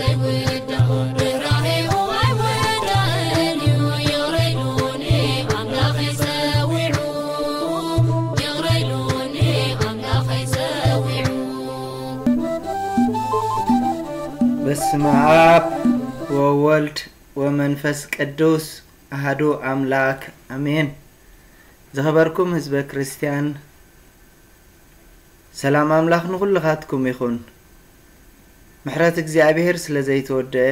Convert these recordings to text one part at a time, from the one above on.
ዘይውዳእ ርህራሄኡ ኣይወዳእን እዩ። ይቕረ ኢሉኒ ኣምላኸይ ጸዊዑ፣ ይቕረ ኢሉኒ ኣምላኸይ ጸዊዑ። በስመ አብ ወወልድ ወመንፈስ ቅዱስ አሐዱ አምላክ አሜን። ዝኸበርኩም ህዝበ ክርስቲያን፣ ሰላም ኣምላኽ ንኹልኻትኩም ይኹን። ምሕረት እግዚኣብሔር ስለ ዘይተወደአ፣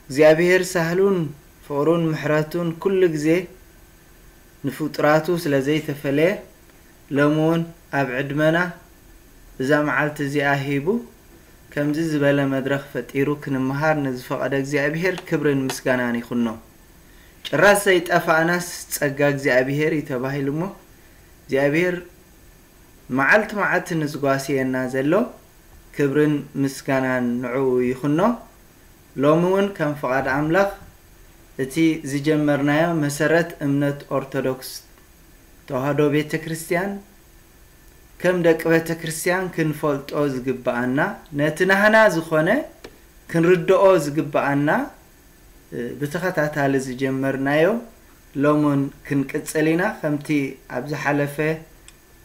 እግዚኣብሔር ሳህሉን ፍቕሩን ምሕረቱን ኩሉ ግዜ ንፍጡራቱ ስለ ዘይተፈለየ፣ ሎሚ እውን ኣብ ዕድመና እዛ መዓልቲ እዚኣ ሂቡ፣ ከምዚ ዝበለ መድረኽ ፈጢሩ ክንመሃር ንዝፈቐደ እግዚኣብሔር ክብርን ምስጋናን ይኹኖ። ጭራስ ዘይጠፋእናስ ጸጋ እግዚኣብሔር እዩ ተባሂሉ እሞ፣ እግዚኣብሔር መዓልቲ መዓልቲ ንዝጓስየና ዘሎ ክብርን ምስጋናን ንዕኡ ይኹኖ። ሎሚ እውን ከም ፍቓድ ኣምላኽ እቲ ዝጀመርናዮ መሰረት እምነት ኦርቶዶክስ ተዋህዶ ቤተ ክርስቲያን ከም ደቂ ቤተ ክርስቲያን ክንፈልጦ ዝግብኣና፣ ነቲ ናህና ዝኾነ ክንርድኦ ዝግብኣና፣ እ፣ ብተኸታታሊ ዝጀመርናዮ ሎሙን ክንቅጽል ኢና። ከምቲ ኣብ ዝሓለፈ፣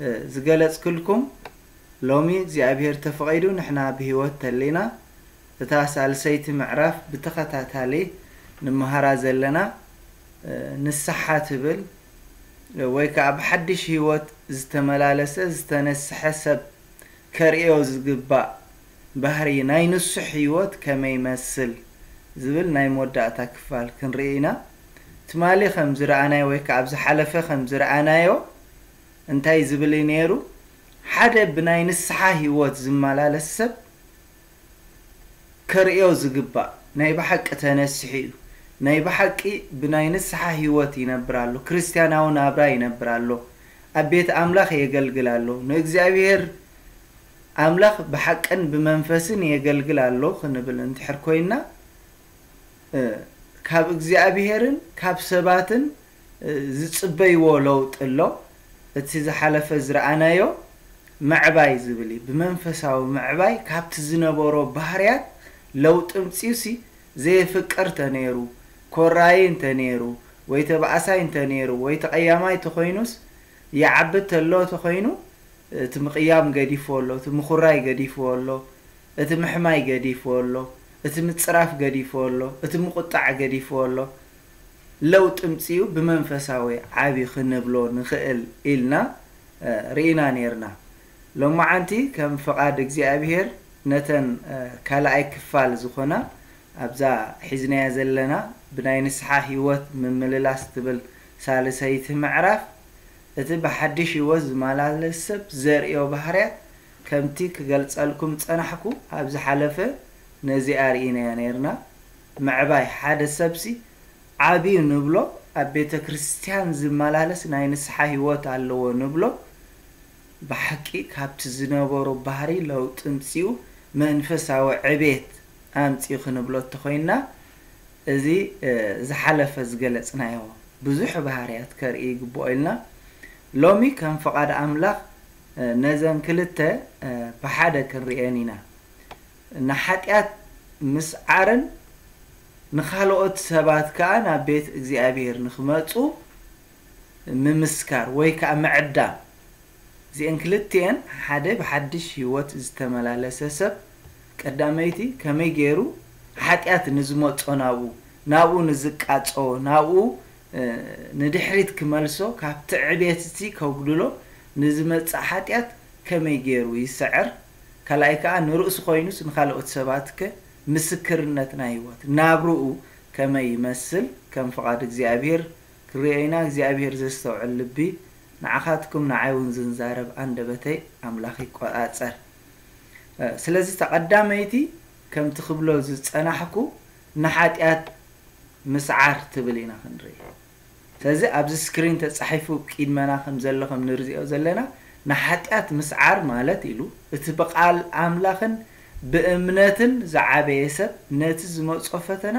እ፣ ዝገለጽክልኩም፣ ሎሚ እግዚኣብሔር ተፈቒዱ ንሕና ብህይወት ተሊና፣ እታ ሳልሰይቲ ምዕራፍ ብተኸታታሊ ንመሃራ ዘለና፣ እ፣ ንስሓ ትብል፣ እ፣ ወይ ከኣ ብሓድሽ ህይወት ዝተመላለሰ፣ ዝተነስሐ ሰብ ከርእዮ ዝግባእ ባህሪ ናይ ንሱሕ ህይወት ከመይ ይመስል ዝብል ናይ መወዳእታ ክፋል ክንርኢ ኢና። ትማሊ ከም ዝረኣናዮ ወይ ከኣ ኣብ ዝሓለፈ ከም ዝረኣናዮ እንታይ ዝብል እዩ ነይሩ? ሓደ ብናይ ንስሓ ህይወት ዝመላለስ ሰብ ከርእዮ ዝግባእ ናይ ብሓቂ ተነሲሑ እዩ። ናይ ብሓቂ ብናይ ንስሓ ህይወት ይነብር ኣሎ። ክርስትያናዊ ናብራ ይነብር ኣሎ። ኣብ ቤት ኣምላኽ የገልግል ኣሎ። ንእግዚኣብሔር ኣምላኽ ብሓቅን ብመንፈስን የገልግል ኣሎ ክንብል እንድሕር ኮይንና፣ እ፣ ካብ እግዚኣብሔርን ካብ ሰባትን፣ እ፣ ዝጽበይዎ ለውጢ ኣሎ። እቲ ዝሓለፈ ዝረኣናዮ ምዕባይ ዝብል እዩ። ብመንፈሳዊ ምዕባይ ካብቲ ዝነበሮ ባህርያት ለውጢ ምጽኡሲ፣ ዘየፍቅር ተነይሩ፣ ኮራይ እንተነይሩ፣ ወይ ተባእሳይ እንተነይሩ፣ ወይ ተቐያማይ ተኾይኑስ፣ ይዓቢ ተሎ ተኾይኑ፣ እቲ ምቕያም ገዲፍዎ ኣሎ፣ እቲ ምኹራይ ገዲፍዎ ኣሎ፣ እቲ ምሕማይ ገዲፍዎ ኣሎ፣ እቲ ምጽራፍ ገዲፍዎ ኣሎ፣ እቲ ምቁጣዕ ገዲፍዎ ኣሎ። ለውጢ ምጽኡ ብመንፈሳዊ ዓቢ ክንብሎ ንኽእል ኢልና፣ እ፣ ርኢና ኔርና። ሎማዓንቲ ከም ፍቓድ እግዚኣብሔር ነተን፣ እ፣ ካልኣይ ክፋል ዝኾና ኣብዛ ሒዝናያ ዘለና ብናይ ንስሓ ህይወት ምምልላስ ትብል ሳልሰይቲ ምዕራፍ፣ እቲ ብሓድሽ ህይወት ዝመላለስ ሰብ ዘርእዮ ባህርያት ከምቲ ክገልጸልኩም ጸናሕኩ ኣብ ዝሓለፈ ነዚኣ ርኢናያ ኔርና። ምዕባይ ሓደ ሰብሲ ዓብዩ ንብሎ፣ ኣብ ቤተ ክርስቲያን ዝመላለስ ናይ ንስሓ ህይወት ኣለዎ ንብሎ፣ ብሓቂ ካብቲ ዝነበሮ ባህሪ ለውጢ ምጽኡ መንፈሳዊ ዕቤት ኣምጽኡ ክንብሎ እንተኾይንና፣ እዚ፣ እ፣ ዝሓለፈ ዝገለጽናዮ ብዙሕ ባህርያት ከርኢ ይግብኦ ኢልና። ሎሚ ከም ፍቓድ ኣምላኽ፣ እ፣ ነዘን ክልተ፣ እ፣ ብሓደ ክንርእየን ኢና። ንሓጢኣት ምስዓርን ንኻልኦት ሰባት ከኣ ናብ ቤት እግዚኣብሔር ንኽመጹ ምምስካር ወይ ከኣ ምዕዳም። እዚአን ክልቲአን ሓደ ብሓድሽ ህይወት ዝተመላለሰ ሰብ ቀዳመይቲ ከመይ ገይሩ ሓጢኣት ንዝመጾ ናብኡ፣ ናብኡ ንዝቃጾ፣ ናብኡ፣ እ፣ ንድሕሪት ክመልሶ፣ ካብቲ ዕቤት እቲ ከጉድሎ ንዝመጽእ ሓጢኣት ከመይ ገይሩ ይስዕር? ካልኣይ ከኣ ንርእሱ ኮይኑስ ንኻልኦት ሰባትከ ምስክርነት ናይ ህይወት ናብርኡ ከመይ ይመስል? ከም ፍቓድ እግዚኣብሔር ክንርእዮ ኢና። እግዚኣብሔር ዘስተውዕል ልቢ ንዓኻትኩም ንዓይ እውን ዝንዛረብ ኣንደበተይ ኣምላኽ ይቆጻጸር። እ፣ ስለዚ እታ ቀዳመይቲ ከምቲ ክብሎ ዝጸናሕኩ ንሓጢኣት ምስዓር ትብል ኢና ክንርኢ። ስለዚ ኣብዚ ስክሪን ተጻሒፉ ቅድመና ከም ዘሎ ከም ንርዚኦ ዘለና ንሓጢኣት ምስዓር ማለት ኢሉ እቲ ብቃል ኣምላኽን ብእምነትን ዝዓበየ ሰብ ነቲ ዝመጾ ፈተና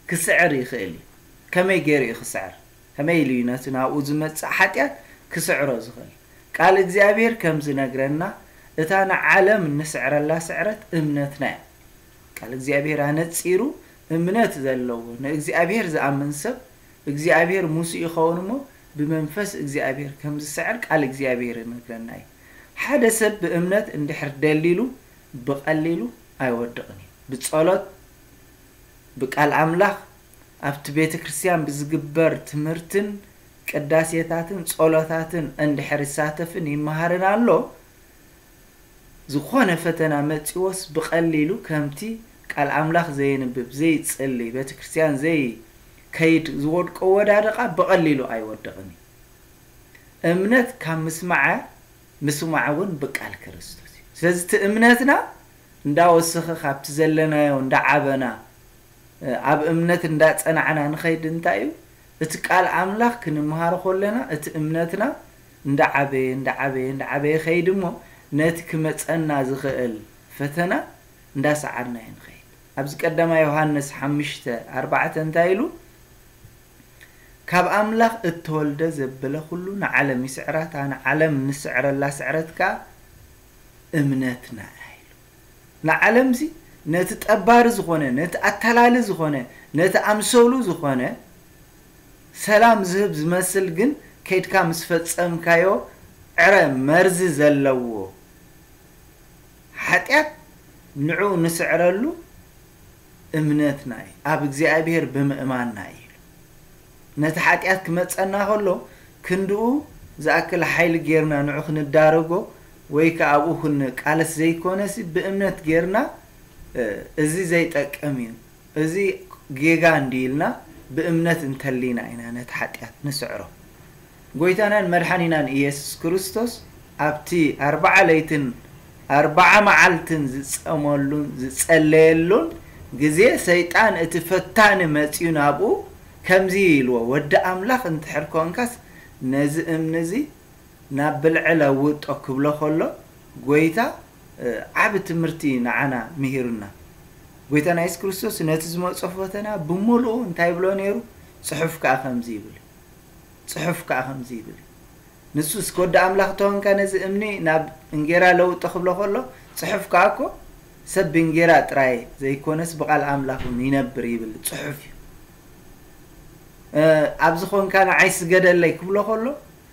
ክስዕር ይኽእል እዩ። ከመይ ገይሩ እዩ ክስዕር? ከመይ ኢሉ እዩ ነቲ ናብኡ ዝመጽእ ሓጢኣት ክስዕሮ ዝኽእል? ቃል እግዚኣብሔር ከም ዝነግረና እታ ንዓለም እንስዕረላ ስዕረት እምነትና እያ። ቃል እግዚኣብሔር ኣነጺሩ እምነት ዘለዎ ንእግዚኣብሔር ዝኣምን ሰብ እግዚኣብሔር ምስኡ ይኸውን እሞ ብመንፈስ እግዚኣብሔር ከም ዝስዕር ቃል እግዚኣብሔር ይነግረና እዩ። ሓደ ሰብ ብእምነት እንድሕር ደሊሉ ብቐሊሉ ኣይወድቕን እዩ። ብጸሎት፣ ብቃል ኣምላኽ፣ ኣብቲ ቤተ ክርስቲያን ብዝግበር ትምህርትን ቅዳሴታትን ጸሎታትን እንድሕር ይሳተፍን ይመሃርን ኣሎ፣ ዝኾነ ፈተና መጺዎስ ብቐሊሉ ከምቲ ቃል ኣምላኽ ዘየንብብ፣ ዘይጽሊ፣ ቤተ ክርስቲያን ዘይከይድ ዝወድቆ ወዳደቓ ብቐሊሉ ኣይወድቕን እዩ። እምነት ካብ ምስማዐ፣ ምስማዕ እውን ብቃል ክርስቶስ እዩ። ስለዚ እቲ እምነትና እንዳወሰኸ ካብቲ ዘለናዮ እንዳዓበና፣ ኣብ እምነት እንዳጸናዕና ንኸይድ እንታይ እዩ? እቲ ቃል ኣምላኽ ክንምሃሮ ከለና እቲ እምነትና እንዳዓበየ፣ እንዳዓበየ፣ እንዳዓበየ ይኸይድ እሞ ነቲ ክመጸና ዝኽእል ፈተና እንዳሰዓርና እዩ ንኸይድ። ኣብዚ ቀዳማይ ዮሃንስ ሓሙሽተ ኣርባዕተ እንታይ ኢሉ? ካብ ኣምላኽ እተወልደ ዘበለ ኩሉ ንዓለም ይስዕራ፣ እታ ንዓለም ንስዕረላ ስዕረት ከኣ እምነትና እያ ኢሉ። ንዓለምሲ ነቲ ጠባሪ ዝኾነ፣ ነቲ ኣታላሊ ዝኾነ፣ ነቲ ኣምሰሉ ዝኾነ ሰላም ዝህብ ዝመስል ግን ከይድካ ምስ ፈጸምካዮ ዕረ መርዚ ዘለዎ ሓጢኣት ንዕኡ ንስዕረሉ እምነትና እዩ፣ ኣብ እግዚኣብሔር ብምእማንና እዩ ኢሉ። ነቲ ሓጢኣት ክመጸና ከሎ ክንድኡ ዝኣክል ሓይሊ ጌርና ንዑ ክንዳረጎ ወይ ከኣ ኣብኡ ክንቃለስ ዘይኮነሲ ብእምነት ጌርና፣ እ፣ እዚ ዘይጠቅም እዩ፣ እዚ ጌጋ እንዲ ኢልና ብእምነት እንተሊና ኢና ነቲ ሓጢኣት ንስዕሮ። ጎይታናን መድሓኒናን ኢየሱስ ክርስቶስ ኣብቲ ኣርባዓ ለይትን ኣርባዓ መዓልትን ዝጸመሉን ዝጸለየሉን ግዜ ሰይጣን እቲ ፈታኒ መጺኡ ናብኡ ከምዚ ኢልዎ፣ "ወዲ ኣምላኽ እንድሕር ኮንካስ ነዚ እምኒ እዚ ናብ ብልዒ ለውጦ" ክብሎ ከሎ ጎይታ፣ እ፣ ዓቢ ትምህርቲ ንዓና ምሂሩና። ጎይታና የሱስ ክርስቶስ ነቲ ዝመጾ ፈተና ብምሉኡ እንታይ ይብሎ ነይሩ? ጽሑፍ ከኣ ከምዚ ይብል። ጽሑፍ ከኣ ከምዚ ይብል። ንሱስ፣ "ወዲ ኣምላኽ ተኾንካ ነዚ እምኒ ናብ እንጌራ ለውጦ" ክብሎ ከሎ፣ ጽሑፍ ከኣ እኮ፣ "ሰብ ብእንጌራ ጥራይ ዘይኮነስ ብቓል ኣምላኽ እውን ይነብር" ይብል ጽሑፍ እዩ። እ፣ "ኣብዚ ኾንካ ንዓይ ስገደለይ" ክብሎ ከሎ፣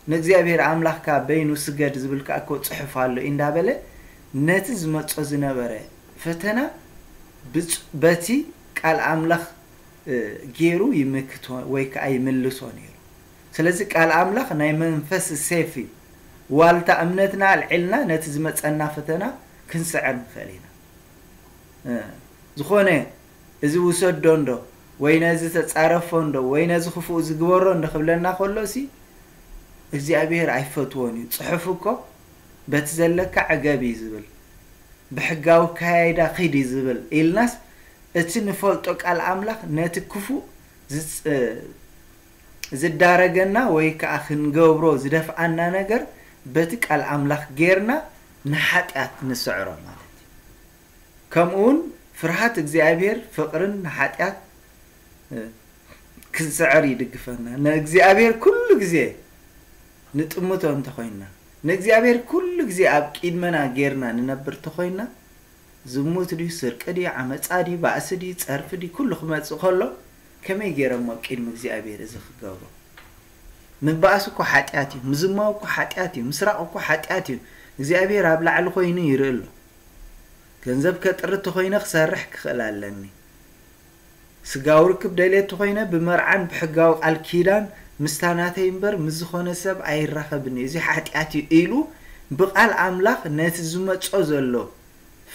"ንእግዚኣብሔር ኣምላኽካ በይኑ ስገድ" ዝብል ከኣ እኮ ጽሑፍ ኣሎ እንዳበለ፣ ነቲ ዝመጾ ዝነበረ ፈተና ብጽ-፣ በቲ ቃል ኣምላኽ እ፣ ገይሩ ይምክቶ ወይ ከኣ ይምልሶ ነይሩ። ስለዚ ቃል ኣምላኽ ናይ መንፈስ ሴፍ እዩ። ዋልታ እምነትና ኣልዒልና ነቲ ዝመጸና ፈተና ክንስዕር ንኽእል ኢና። እ፣ ዝኾነ እዚ ውሰዶ እንዶ ወይ ነዚ ተጻረፎ እንዶ ወይ ነዚ ክፉእ ዝግበሮ እንዶ ክብለና ከሎሲ እግዚኣብሔር ኣይፈትዎን እዩ። ጽሑፍ እኮ በቲ ዘለካ ዕገብ እዩ ዝብል። ብሕጋዊ ኣከያይዳ ኺድ እዩ ዝብል ኢልናስ፣ እቲ ንፈልጦ ቃል ኣምላኽ ነቲ ክፉእ ዝጽ-፣ ዝዳረገና ወይ ከኣ ክንገብሮ ዝደፍኣና ነገር በቲ ቃል ኣምላኽ ጌርና ንሓጢኣት ንስዕሮ ማለት እዩ። ከምኡ እውን ፍርሃት እግዚኣብሔር ፍቕርን ንሓጢኣት፣ እ፣ ክንስዕር ይድግፈና። ንእግዚኣብሔር ኩሉ ግዜ ንጥምቶ እንተኾይንና፣ ንእግዚኣብሔር ኩሉ ግዜ ኣብ ቂድመና ጌርና ንነብር እንተኾይንና፣ ዝሙት ድዩ፣ ስርቂ ድዩ፣ ዓመጻ ድዩ፣ ባእሲ ድዩ፣ ጸርፊ ድዩ፣ ኩሉ ክመጽእ ከሎ፣ ከመይ ገይረ እሞ ኣብ ቅድሚ እግዚኣብሔር እዚ ክገብሮ? ምባእሲ እኮ ሓጢኣት እዩ፣ ምዝማው እኮ ሓጢኣት እዩ፣ ምስራቕ እኮ ሓጢኣት እዩ። እግዚኣብሔር ኣብ ላዕሊ ኮይኑ ይርኢ ኣሎ። ገንዘብ ከጥሪ እንተኾይነ ክሰርሕ ክኽእል ኣለኒ። ስጋዊ ርክብ ደልየ እንተኾይነ ብመርዓን ብሕጋዊ ቃል ኪዳን ምስታ ናተይ እምበር ምስ ዝኾነ ሰብ ኣይራኸብን እየ፣ እዚ ሓጢኣት እዩ ኢሉ ብቃል ኣምላኽ ነቲ ዝመጾ ዘሎ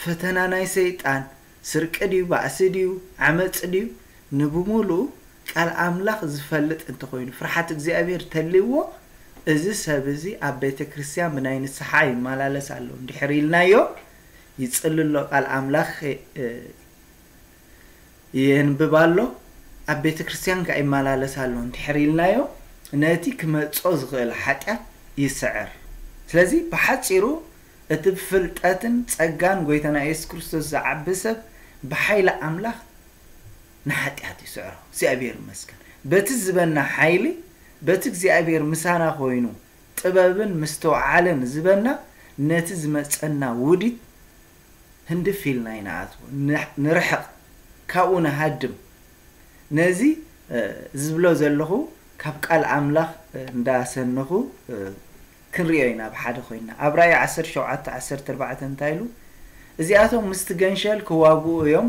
ፈተና ናይ ሰይጣን፣ ስርቂ ድዩ፣ ባእሲ ድዩ፣ ዓመጽ ድዩ፣ ንብሙሉኡ ቃል ኣምላኽ ዝፈልጥ እንተኾይኑ፣ ፍርሓት እግዚኣብሔር ተልይዎ፣ እዚ ሰብ እዚ ኣብ ቤተ ክርስቲያን ብናይ ንስሓ ይመላለስ ኣሎ እንድሕር ኢልናዮ፣ ይጽሊ ኣሎ ቃል ኣምላኽ፣ እ፣ የንብብ ኣሎ፣ ኣብ ቤተ ክርስቲያን ከኣ ይመላለስ ኣሎ እንድሕር ኢልናዮ፣ ነቲ ክመጾ ዝኽእል ሓጢኣት ይስዕር። ስለዚ ብሓጺሩ እቲ ብፍልጠትን ጸጋን ጎይታና የሱስ ክርስቶስ ዝዓቢ ሰብ ብሓይሊ ኣምላኽ ንሓጢኣት ይስዕሮ። እግዚኣብሔር ይመስገን። በቲ ዝበና ሓይሊ፣ በቲ እግዚኣብሔር ምሳና ኮይኑ ጥበብን ምስትውዓልን ዝበና ነቲ ዝመጸና ውዲት ህንድፍ ኢልና ኢና ኣትዎ ንርሕቕ ካብኡ ንሃድም። ነዚ ዝብሎ ዘለኹ ካብ ቃል ኣምላኽ እንዳሰነኹ ክንሪኦ ኢና ብሓደ ኮይና። ኣብ ራእይ ዓሰርተ ሸውዓተ ዓሰርተ ኣርባዕተ እንታይ ኢሉ? እዚኣቶም ምስቲ ገንሸል ክዋግኡ እዮም።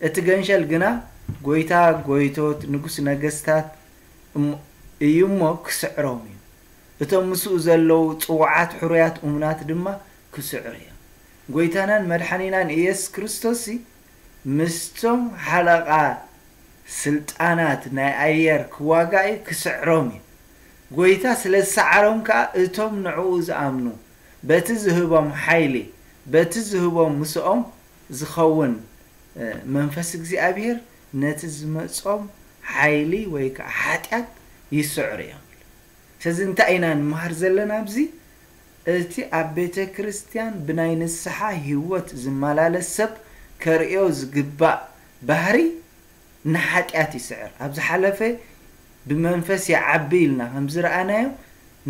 እቲ ገንሸል ግና ጎይታ ጎይቶት ንጉስ ነገስታት እዩ እሞ ክስዕሮም እዩ። እቶም ምስኡ ዘለዉ ጽዋዓት ሕሩያት እሙናት ድማ ክስዕሩ እዮም። ጎይታናን መድሓኒናን ኢየሱስ ክርስቶስሲ ምስቶም ሓለቓ ስልጣናት ናይ ኣየር ክዋጋእ እዩ፣ ክስዕሮም እዩ። ጎይታ ስለ ዝሰዓሮም ከኣ እቶም ንዕኡ ዝኣምኑ በቲ ዝህቦም ሓይሊ፣ በቲ ዝህቦም ምስኦም ዝኸውን መንፈስ እግዚኣብሔር ነቲ ዝመጾም ሓይሊ ወይ ከዓ ሓጢኣት ይስዕሩ እዮም። ስለዚ እንታይ ኢና ንምሃር ዘለና ኣብዚ? እቲ ኣብ ቤተ ክርስቲያን ብናይ ንስሓ ህይወት ዝመላለስ ሰብ ከርእዮ ዝግባእ ባህሪ ንሓጢኣት ይስዕር። ኣብ ዝሓለፈ ብመንፈስ ይዓቢ ኢልና ከም ዝረኣናዮ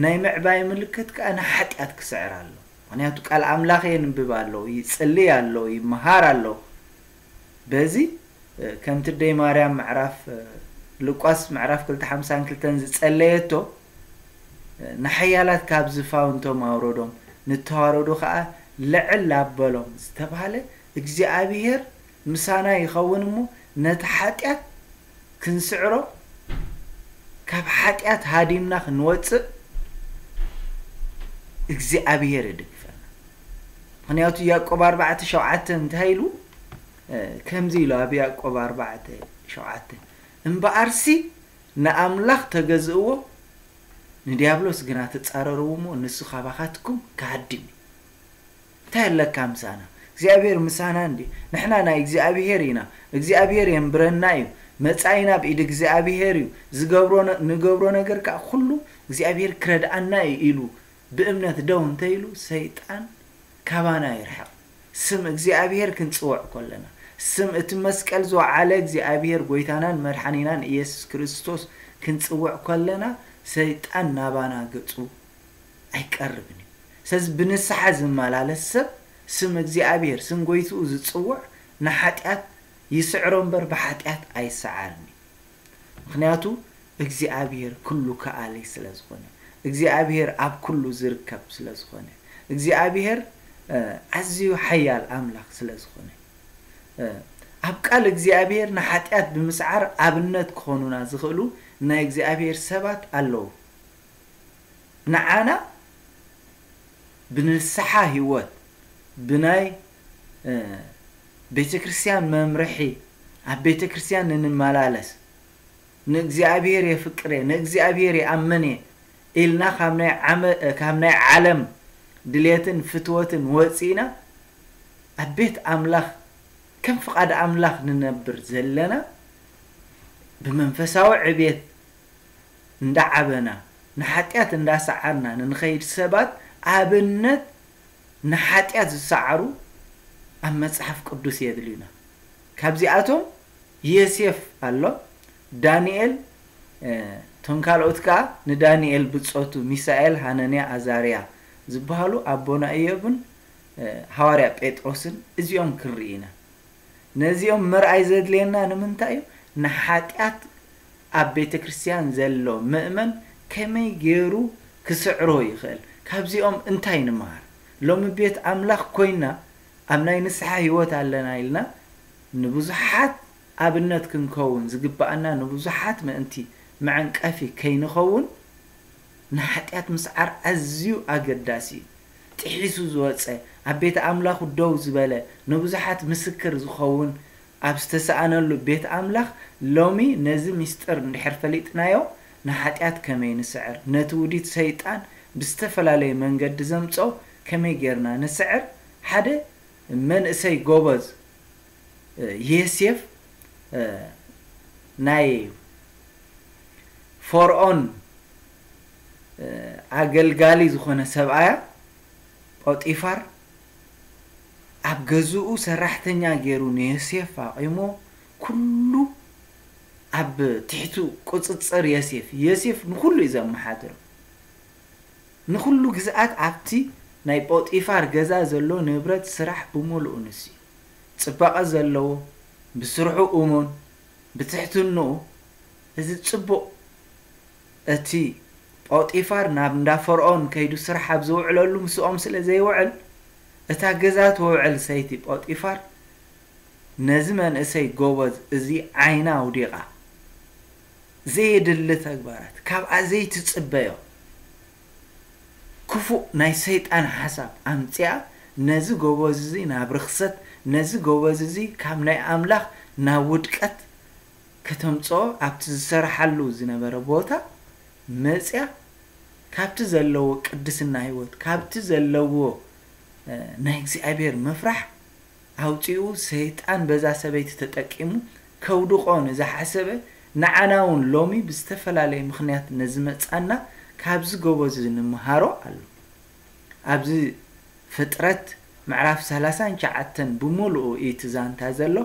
ናይ ምዕባይ ምልክት ከዓ ንሓጢኣት ክስዕር ኣሎ። ምክንያቱ ቃል ኣምላኽ የንብብ ኣሎ፣ ይጽልይ ኣሎ፣ ይመሃር ኣሎ። በዚ ከምቲ ደይ ማርያም ምዕራፍ ሉቃስ ምዕራፍ ክልተ ሓምሳን ክልተን ዝጸለየቶ ንሓያላት ካብ ዝፋውንቶም ኣውረዶም ንተዋረዱ ከዓ ልዕል ኣበሎም ዝተባህለ እግዚኣብሔር ምሳና ይኸውን እሞ ነቲ ሓጢኣት ክንስዕሮ ካብ ሓጢኣት ሃዲምና ክንወፅእ እግዚኣብሔር ይድግፈና። ምክንያቱ ያዕቆብ ኣርባዕተ ሸውዓተ እንታይ ኢሉ? ከምዚ ኢሉ ኣብ ያዕቆብ ኣርባዕተ ሸውዓተ፣ እምበኣርሲ ንኣምላኽ ተገዝእዎ ንዲያብሎስ ግና ተጻረርዎ እሞ ንሱ ካባኻትኩም ክሃድም እዩ። እንታይ ኣለካ ምሳና? እግዚኣብሔር ምሳና እንዲ ንሕና ናይ እግዚኣብሔር ኢና። እግዚኣብሔር የንብረና እዩ። መጻኢና ብኢድ እግዚኣብሔር እዩ። ዝገብሮ ንገብሮ ነገር ከዓ ኩሉ እግዚኣብሔር ክረድኣና እዩ ኢሉ ብእምነት ደው እንተኢሉ ሰይጣን ካባና ይርሕቕ። ስም እግዚኣብሔር ክንጽውዕ ከለና፣ ስም እቲ መስቀል ዝወዓለ እግዚኣብሔር ጎይታናን መድሓኒናን ኢየሱስ ክርስቶስ ክንጽውዕ ከለና ሰይጣን ናባና ገጹ ኣይቀርብን እዩ። ስለዚ ብንስሓ ዝመላለስ ሰብ ስም እግዚኣብሔር ስም ጎይትኡ ዝጽውዕ ንሓጢኣት ይስዕሮ እምበር ብሓጢኣት ኣይሰዓርን እዩ። ምክንያቱ እግዚኣብሔር ኩሉ ከኣሊ ስለ ዝኾነ፣ እግዚኣብሔር ኣብ ኩሉ ዝርከብ ስለ ዝኾነ፣ እግዚኣብሔር ኣዝዩ ሓያል ኣምላኽ ስለ ዝኾነ ኣብ ቃል እግዚኣብሔር ንሓጢኣት ብምስዓር ኣብነት ክኾኑና ዝኽእሉ ናይ እግዚኣብሔር ሰባት ኣለዉ። ንዓና ብንስሓ ህይወት ብናይ ቤተ ክርስቲያን መምርሒ ኣብ ቤተ ክርስቲያን ንንመላለስ ንእግዚኣብሔር የፍቅር እየ ንእግዚኣብሔር ይኣምን እየ ኢልና ካብ ናይ ዓለም ድሌትን ፍትወትን ወፂእና ኣብ ቤት ኣምላኽ ከም ፍቓድ ኣምላኽ ንነብር ዘለና ብመንፈሳዊ ዕቤት እንዳዓበና ንሓጢኣት እንዳሰዓርና ንንኸይድ ሰባት ኣብነት ንሓጢኣት ዝሰዓሩ ኣብ መጽሓፍ ቅዱስ የድልዩና። ካብዚኣቶም ዮሴፍ ኣሎ፣ ዳንኤል፣ እቶም ካልኦት ከኣ ንዳንኤል ብጾቱ ሚሳኤል፣ ሃነንያ፣ ኣዛርያ ዝበሃሉ ኣቦና ኢዮብን ሃዋርያ ጴጥሮስን እዚኦም ክንርኢ ኢና። ነዚኦም ምርኣይ ዘድልየና ንምንታይ እዩ? ንሓጢኣት ኣብ ቤተ ክርስቲያን ዘሎ ምእመን ከመይ ገይሩ ክስዕሮ ይኽእል? ካብዚኦም እንታይ ንምሃር? ሎሚ ቤት ኣምላኽ ኮይና ኣብ ናይ ንስሓ ህይወት ኣለና ኢልና ንብዙሓት ኣብነት ክንከውን ዝግባኣና ንብዙሓት ምእንቲ መዐንቀፊ ከይንኸውን ንሓጢኣት ምስዓር ኣዝዩ ኣገዳሲ እዩ። ጥሒሱ ዝወጸ፣ ኣብ ቤት ኣምላኹ ደው ዝበለ፣ ንብዙሓት ምስክር ዝኸውን ኣብ ዝተሰኣነሉ ቤት ኣምላኽ ሎሚ ነዚ ምስጢር እንድሕር ፈሊጥናዮ ንሓጢኣት ከመይ ንስዕር፣ ነቲ ውዲት ሰይጣን ብዝተፈላለየ መንገዲ ዘምጾ ከመይ ጌርና ንስዕር ሓደ መንእሰይ ጎበዝ ዮሴፍ ናይ ፈርዖን ኣገልጋሊ ዝኾነ ሰብኣያ ጶጢፋር ኣብ ገዝኡ ሰራሕተኛ ገይሩ ንዮሴፍ ኣቂሞ ኩሉ ኣብ ትሕቱ ቁፅፅር ዮሴፍ ዮሴፍ ንኩሉ እዩ ዘመሓድሮ ንኩሉ ግዝኣት ኣብቲ ናይ ጶጢፋር ገዛ ዘሎ ንብረት ስራሕ ብምሉኡ ንሱ እዩ። ጽባቐ ዘለዎ፣ ብስርሑ እሙን፣ ብትሕትንኡ፣ እዚ ጽቡቕ፣ እቲ ጶጢፋር ናብ እንዳ ፈርዖን ከይዱ ስራሕ ኣብ ዝውዕለሉ ምስኦም ስለ ዘይውዕል፣ እታ ገዛ ትውዕል ሰይቲ ጶጢፋር ነዚ መንእሰይ ጎበዝ እዚ ዓይና ኣውዲቓ፣ ዘየድሊ ተግባራት፣ ካብኣ ዘይትጽበዮ ክፉእ ናይ ሰይጣን ሓሳብ ኣምጺኣ፣ ነዚ ጎበዝ እዚ ናብ ርኽሰት፣ ነዚ ጎበዝ እዚ ካብ ናይ ኣምላኽ ናብ ውድቀት ከተምጽኦ፣ ኣብቲ ዝሰርሓሉ ዝነበረ ቦታ መጽያ፣ ካብቲ ዘለዎ ቅድስና ህይወት፣ ካብቲ ዘለዎ፣ እ፣ ናይ እግዚኣብሔር ምፍራሕ ኣውጺኡ፣ ሰይጣን በዛ ሰበይቲ ተጠቂሙ ከውድቖ ንዝሓሰበ፣ ንዓና እውን ሎሚ ብዝተፈላለየ ምኽንያት ነዝመጻና ካብዚ ጎበዝ እዚ ንምሃሮ ኣሎ። ኣብዚ ፍጥረት ምዕራፍ ሰላሳን ትሽዓተን ብምሉኡ እዩ እቲ ዛንታ ዘሎ።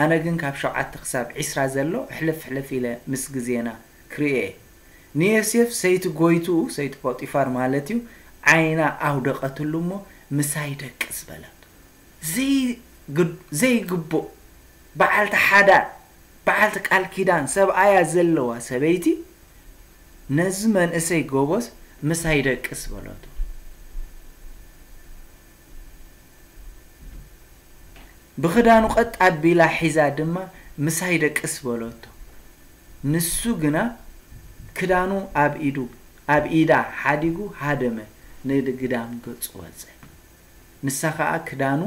ኣነ ግን ካብ ሸውዓተ ክሳብ ዒስራ ዘሎ ሕልፍ ሕልፍ ኢለ ምስ ግዜና ክርእዮ እየ። ንዮሴፍ ሰይቲ ጎይትኡ፣ ሰይቲ ፖጢፋር ማለት እዩ፣ ዓይና ኣውደቐትሉ እሞ ምሳይ ደቅስ በለቶ። ዘይግ-፣ ዘይግቡእ በዓልቲ ሓዳር፣ በዓልቲ ቃል ኪዳን ሰብኣያ ዘለዋ ሰበይቲ ነዚ መንእሰይ ጎበዝ ምሳይ ደቅስ በለቶ። ብኽዳኑ ቀጥ ኣቢላ ሒዛ ድማ ምሳይ ደቅስ በለቶ። ንሱ ግና ክዳኑ ኣብ ኢዱ፣ ኣብ ኢዳ ሓዲጉ ሃደመ፣ ንግዳም ገጹ ወጸ። ንሳ ኸኣ ክዳኑ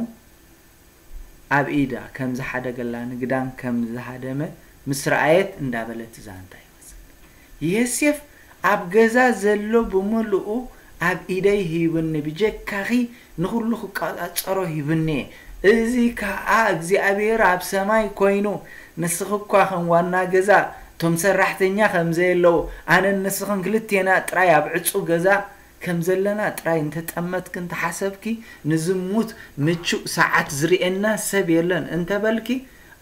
ኣብ ኢዳ ከም ዝሓደገላ፣ ንግዳም ከም ዝሃደመ ምስ ረኣየት እንዳበለት ዛንታ ይወጸት። ዮሴፍ ኣብ ገዛ ዘሎ ብምልኡ ኣብ ኢደይ ሂብኒ፣ ብጀካኺ ንኹሉ ክቆጻጸሮ ሂብኒ እየ። እዚ ከኣ እግዚኣብሔር ኣብ ሰማይ ኮይኑ፣ ንስኺ እኳ ከም ዋና ገዛ፣ እቶም ሰራሕተኛ ከም ዘየለዉ፣ ኣነን ንስኽን ክልቴና ጥራይ ኣብ ዕጹው ገዛ ከም ዘለና ጥራይ እንተጠመትኪ እንተሓሰብኪ፣ ንዝሙት ምቹእ ሰዓት ዝርእየና ሰብ የለን እንተበልኪ፣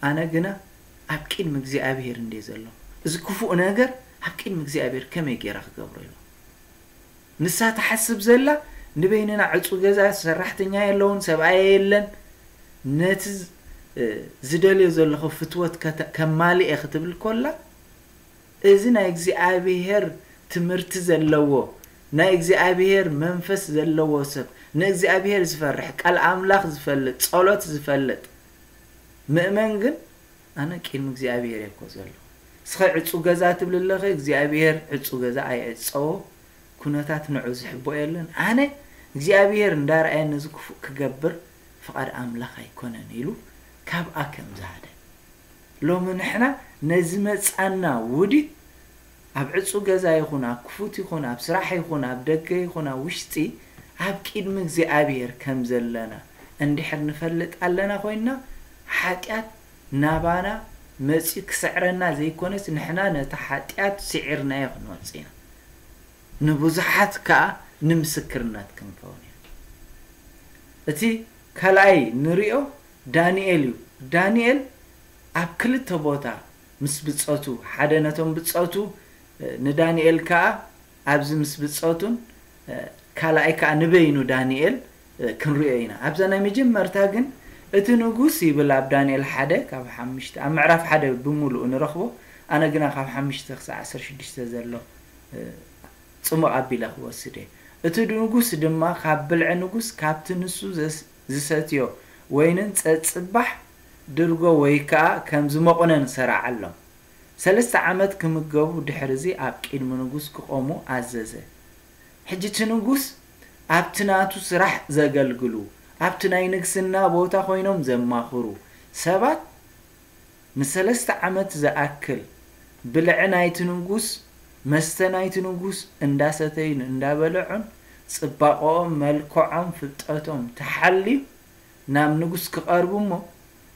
ኣነ ግና ኣብ ቅድሚ እግዚኣብሔር እንድየ ዘለኹ። እዚ ክፉእ ነገር ኣብ ቅድሚ እግዚኣብሔር ከመይ ገይረ ክገብሮ ኢሉ። ንሳ ትሓስብ ዘላ፣ ንበይንና ዕጹው ገዛ፣ ሰራሕተኛ የለውን፣ ሰብኣያ የለን፣ ነቲ ዝ-፣ እ፣ ዝደልዮ ዘለኹ ፍትወት ከተ-፣ ከማልእ እየ ክትብል ኮላ፣ እዚ ናይ እግዚኣብሔር ትምህርቲ ዘለዎ፣ ናይ እግዚኣብሔር መንፈስ ዘለዎ ሰብ፣ ንእግዚኣብሔር ዝፈርሕ፣ ቃል ኣምላኽ ዝፈልጥ፣ ጸሎት ዝፈልጥ ምእመን ግን፣ ኣነ ቅድሚ እግዚኣብሔር እየ እኮ ዘለኹ። እስኸ ዕጹው ገዛ ትብሊ ኣለኺ፣ እግዚኣብሔር ዕጹው ገዛ ኣይዕጸዎ፣ ኩነታት ንዑ ዝሕቦ የለን። ኣነ እግዚኣብሔር እንዳርኣየ ነዚ ክፉእ ክገብር ፍቓድ ኣምላኽ ኣይኮነን ኢሉ ካብኣ ከም ዝሃደ። ሎሚ ንሕና ነዚ መጻና ውዲት ኣብ ዕጹው ገዛ ይኹን፣ ኣብ ክፉት ይኹን፣ ኣብ ስራሕ ይኹን፣ ኣብ ደገ ይኹን፣ ኣብ ውሽጢ፣ ኣብ ቅድሚ እግዚኣብሔር ከም ዘለና እንድሕር ንፈልጥ ኣለና ኮይንና፣ ሓጢኣት ናባና መጺኡ ክስዕረና ዘይኮነስ፣ ንሕና ነቲ ሓጢኣት ስዒርናዮ ክንወጽእ ኢና። ንብዙሓት ከኣ ንምስክርነት ክንከውን ኢና። እቲ ካልኣይ ንሪኦ ዳንኤል እዩ። ዳንኤል ኣብ ክልተ ቦታ ምስ ብጾቱ፣ ሓደ ነቶም ብጾቱ፣ እ፣ ንዳንኤል ከኣ ኣብዚ ምስ ብጾቱን፣ እ፣ ካልኣይ ከኣ ንበይኑ ዳንኤል፣ እ፣ ክንሪኦ ኢና። ኣብዛ ናይ መጀመርታ ግን እቲ ንጉስ ይብል ኣብ ዳንኤል ሓደ ካብ ሓሙሽተ፣ ኣብ ምዕራፍ ሓደ ብምሉኡ ንረኽቦ። ኣነ ግና ካብ ሓሙሽተ ክሳብ ዓሰርተ ሽዱሽተ ዘሎ፣ እ፣ ጽሙቕ ኣቢለ ክወስድ እየ። እቲ ንጉስ ድማ ካብ ብልዒ ንጉስ ካብቲ ንሱ ዘስ-፣ ዝሰትዮ ወይንን ጸጽባሕ ድርጎ ወይ ከኣ ከም ዝመቑነን ሰራዓሎም። ሰለስተ ዓመት ክምገቡ ድሕርዚ ኣብ ቅድሚ ንጉስ ክቖሙ ኣዘዘ። ሕጂ እቲ ንጉስ ኣብቲ ናቱ ስራሕ ዘገልግሉ፣ ኣብቲ ናይ ንግስና ቦታ ኮይኖም ዘማኽሩ ሰባት ንሰለስተ ዓመት ዝኣክል ብልዒ ናይቲ ንጉስ፣ መስተ ናይቲ ንጉስ እንዳሰተዩን እንዳበልዑን፣ ጽባቐኦም፣ መልክዖም፣ ፍልጠቶም ተሓልዩ ናብ ንጉስ ክቐርቡ እሞ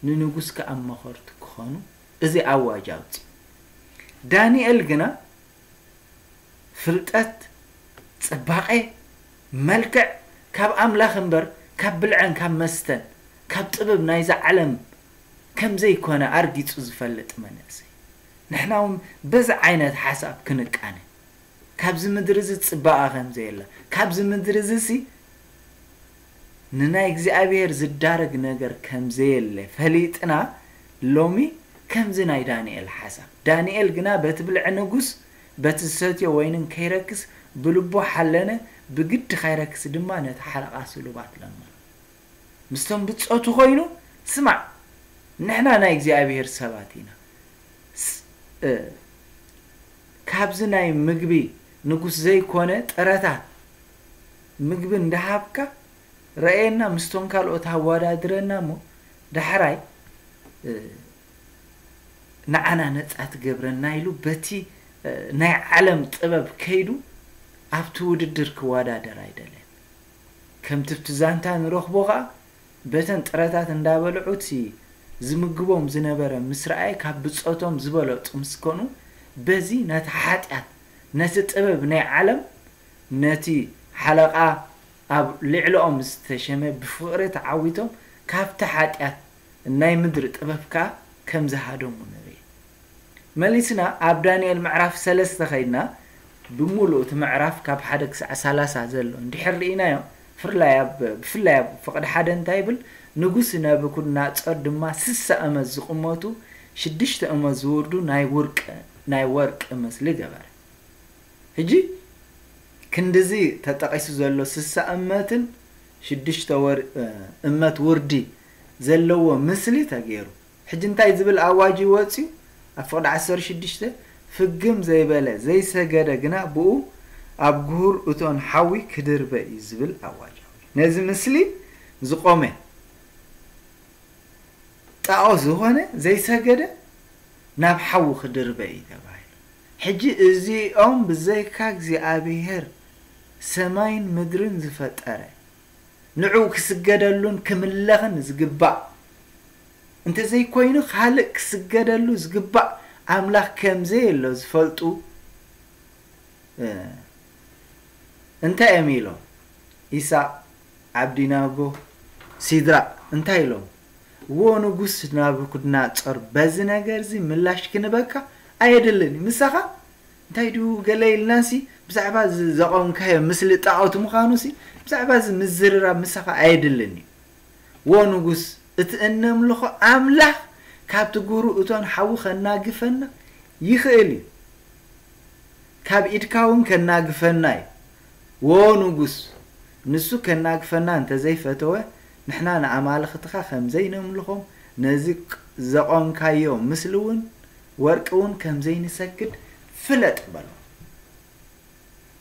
ንንጉስ ከኣ መኸርቲ ክኾኑ እዚ ኣዋጅ ኣውጺኡ። ዳንኤል ግና ፍልጠት፣ ጽባቐ፣ መልክዕ ካብ ኣምላኽ እምበር ካብ ብልዐን ካብ መስተን ካብ ጥበብ ናይዛ ዓለም ከም ዘይኮነ ኣርጊጹ ዝፈልጥ መንእሰይ። ንሕና እውን በዚ ዓይነት ሓሳብ ክንቃነ። ካብዚ ምድሪ እዚ ጽባቐ ከም ዘየለ፣ ካብዚ ምድሪ እዚ ሲ ንናይ እግዚኣብሔር ዝዳረግ ነገር ከም ዘየለ ፈሊጥና፣ ሎሚ ከምዚ ናይ ዳንኤል ሓሳብ። ዳንኤል ግና በቲ ብልዒ ንጉስ፣ በቲ ዝሰትዮ ወይንን ከይረክስ ብልቡ ሓለነ፣ ብግዲ ከይረክስ ድማ ነቲ ሓለቓ ስሉባት ለመኖ። ምስቶም ብጾቱ ኮይኑ፣ ስማዕ፣ ንሕና ናይ እግዚኣብሔር ሰባት ኢና። ስ-፣ እ፣ ካብዚ ናይ ምግቢ ንጉስ ዘይኮነ ጥረታት ምግቢ እንዳሃብካ ረኣየና፣ ምስቶም ካልኦት ኣወዳድረና እሞ ዳሕራይ፣ እ፣ ንዓና ነጻ ትገብረና ኢሉ በቲ፣ እ፣ ናይ ዓለም ጥበብ ከይዱ ኣብቲ ውድድር ክወዳደር ኣይደለየን። ከምቲ ኣብቲ ዛንታ ንረኽቦ ኸኣ በተን ጥረታት እንዳበልዑ እቲ ዝምግቦም ዝነበረ ምስ ረኣየ ካብ ብጾቶም ዝበለጹ ምስ ኮኑ በዚ ነቲ ሓጢኣት፣ ነቲ ጥበብ ናይ ዓለም፣ ነቲ ሓለቓ ኣብ ልዕሊኦም ዝተሸመ ብፍቕሪ ተዓዊቶም ካብቲ ሓጢኣት ናይ ምድሪ ጥበብ ከኣ ከም ዝሃደሙ ንርኢ። መሊስና ኣብ ዳንኤል ምዕራፍ ሰለስተ ከይድና ብምሉእ እቲ ምዕራፍ ካብ ሓደ ክሳዕ ሰላሳ ዘሎ እንድሕር ርኢናዮ፣ ፍርላይ ኣብ፣ ብፍላይ ኣብ ፍቕዲ ሓደ እንታይ ይብል? ንጉስ ነቡኩድነጾር ድማ ስሳ ዓመት ዝቕመቱ ሽዱሽተ ዓመት ዝውርዱ ናይ ውርቂ፣ ናይ ወርቂ ምስሊ ገበረ። ሕጂ ክንድዚ ተጠቒሱ ዘሎ ስሳ እመትን ሽዱሽተ ወር-፣ እ፣ እመት ውርዲ ዘለዎ ምስሊ ተገይሩ። ሕጂ እንታይ ዝብል ኣዋጅ እዩ ወጺኡ? ኣብ ፍቕዲ ዓሰርተ ሽዱሽተ፣ ፍግም ዘይበለ ዘይሰገደ ግና ብኡ ኣብ ግሁር እቶን ሓዊ ክድርበ እዩ ዝብል ኣዋጅ ኣውጅ። ነዚ ምስሊ ዝቖመ ጣዖት ዝኾነ ዘይሰገደ ናብ ሓዊ ክድርበ እዩ ተባሂሉ። ሕጂ እዚኦም ብዘይካ እግዚኣብሔር ሰማይን ምድርን ዝፈጠረ፣ ንዕኡ ክስገደሉን ክምለኽን ዝግባእ፣ እንተዘይኮይኑ ካልእ ክስገደሉ ዝግባእ ኣምላኽ ከም ዘየሎ ዝፈልጡ፣ እ፣ እንታይ እዮም ኢሎም? ኢሳቕ፣ ዓብዲናጎ፣ ሲድራቕ እንታይ ኢሎም? "ዎ ንጉስ ናቡከደነጾር፣ በዚ ነገር እዚ ምላሽ ክንበካ ኣየድልን እዩ። ምሳኻ እንታይ ድዩ ገለ ኢልናሲ፣ ብዛዕባ እዚ ዘቖምካዮ ምስሊ ጣዖት ምዃኑሲ፣ ብዛዕባ እዚ ምዝርራብ ምሳኻ ኣየድልን እዩ። ዎ ንጉስ፣ እቲ እነምልኾ ኣምላኽ ካብቲ ግሁር እቶን ሓዊ ከናግፈና ይኽእል እዩ። ካብ ኢድካ እውን ከናግፈና እዩ። ዎ ንጉስ፣ ንሱ ከናግፈና እንተዘይፈተወ፣ ንሕና ንኣማልኽትኻ ከም ዘይነምልኾም፣ ነዚ ቅ-፣ ዘቖምካዮ ምስሊ እውን ወርቂ እውን ከም ዘይንሰግድ ፍለጥ" በሎ።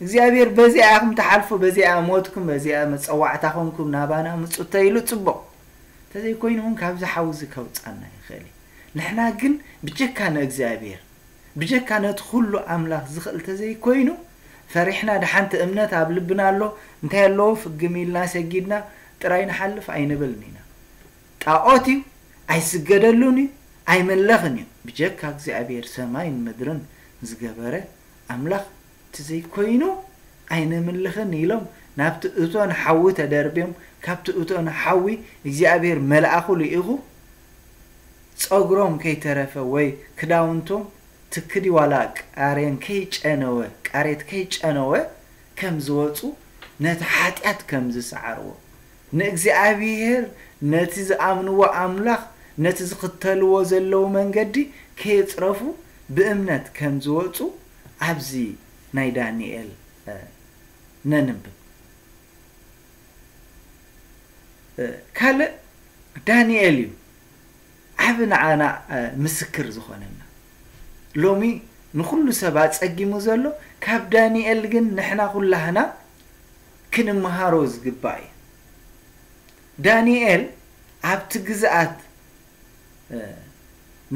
እግዚኣብሔር በዚኣ ኢኹም ትሓልፉ፣ በዚኣ ሞትኩም፣ በዚኣ መጸዋዕታ ኾንኩም ናባና ምጹ እንተኢሉ ጽቡቕ። እንተዘይኮይኑ እውን ካብዚ ሓዊ እዚ ከውጻና ይኽእል እዩ። ንሕና ግን ብጀካ ንእግዚኣብሔር፣ ብጀካ ነቲ ኩሉ ኣምላኽ ዝኽእል እንተዘይኮይኑ፣ ፈሪሕና ደሓንቲ እምነት ኣብ ልብና ኣሎ፣ እንታይ ኣለዎ ፍግም ኢልና ሰጊድና ጥራይ ንሓልፍ ኣይንብልን ኢና። ጣዖት እዩ፣ ኣይስገደሉን እዩ፣ ኣይምለኽን እዩ። ብጀካ እግዚኣብሔር ሰማይን ምድርን ዝገበረ ኣምላኽ እንተዘይኮይኑ ኣይነምልኽን ኢሎም ናብቲ እቶን ሓዊ ተደርብዮም፣ ካብቲ እቶን ሓዊ እግዚኣብሔር መልኣኹ ልኢኹ ጸጉሮም ከይተረፈ ወይ ክዳውንቶም ትክዲ ዋላ ቃሬን ከይጨነወ፣ ቃሬት ከይጨነወ ከም ዝወጹ፣ ነቲ ሓጢኣት ከም ዝሰዓርዎ፣ ንእግዚኣብሔር፣ ነቲ ዝኣምንዎ ኣምላኽ፣ ነቲ ዝኽተልዎ ዘለዉ መንገዲ ከየጽረፉ ብእምነት ከም ዝወጹ ኣብዚ ናይ ዳንኤል፣ እ፣ ነንብብ። እ፣ ካልእ ዳንኤል እዩ ዓቢ ንዓና፣ እ፣ ምስክር ዝኾነና። ሎሚ ንኹሉ ሰብ ኣጸጊሙ ዘሎ፣ ካብ ዳንኤል ግን ንሕና ኩላህና ክንመሃሮ ዝግባእ እዩ። ዳንኤል ኣብቲ ግዝኣት፣ እ፣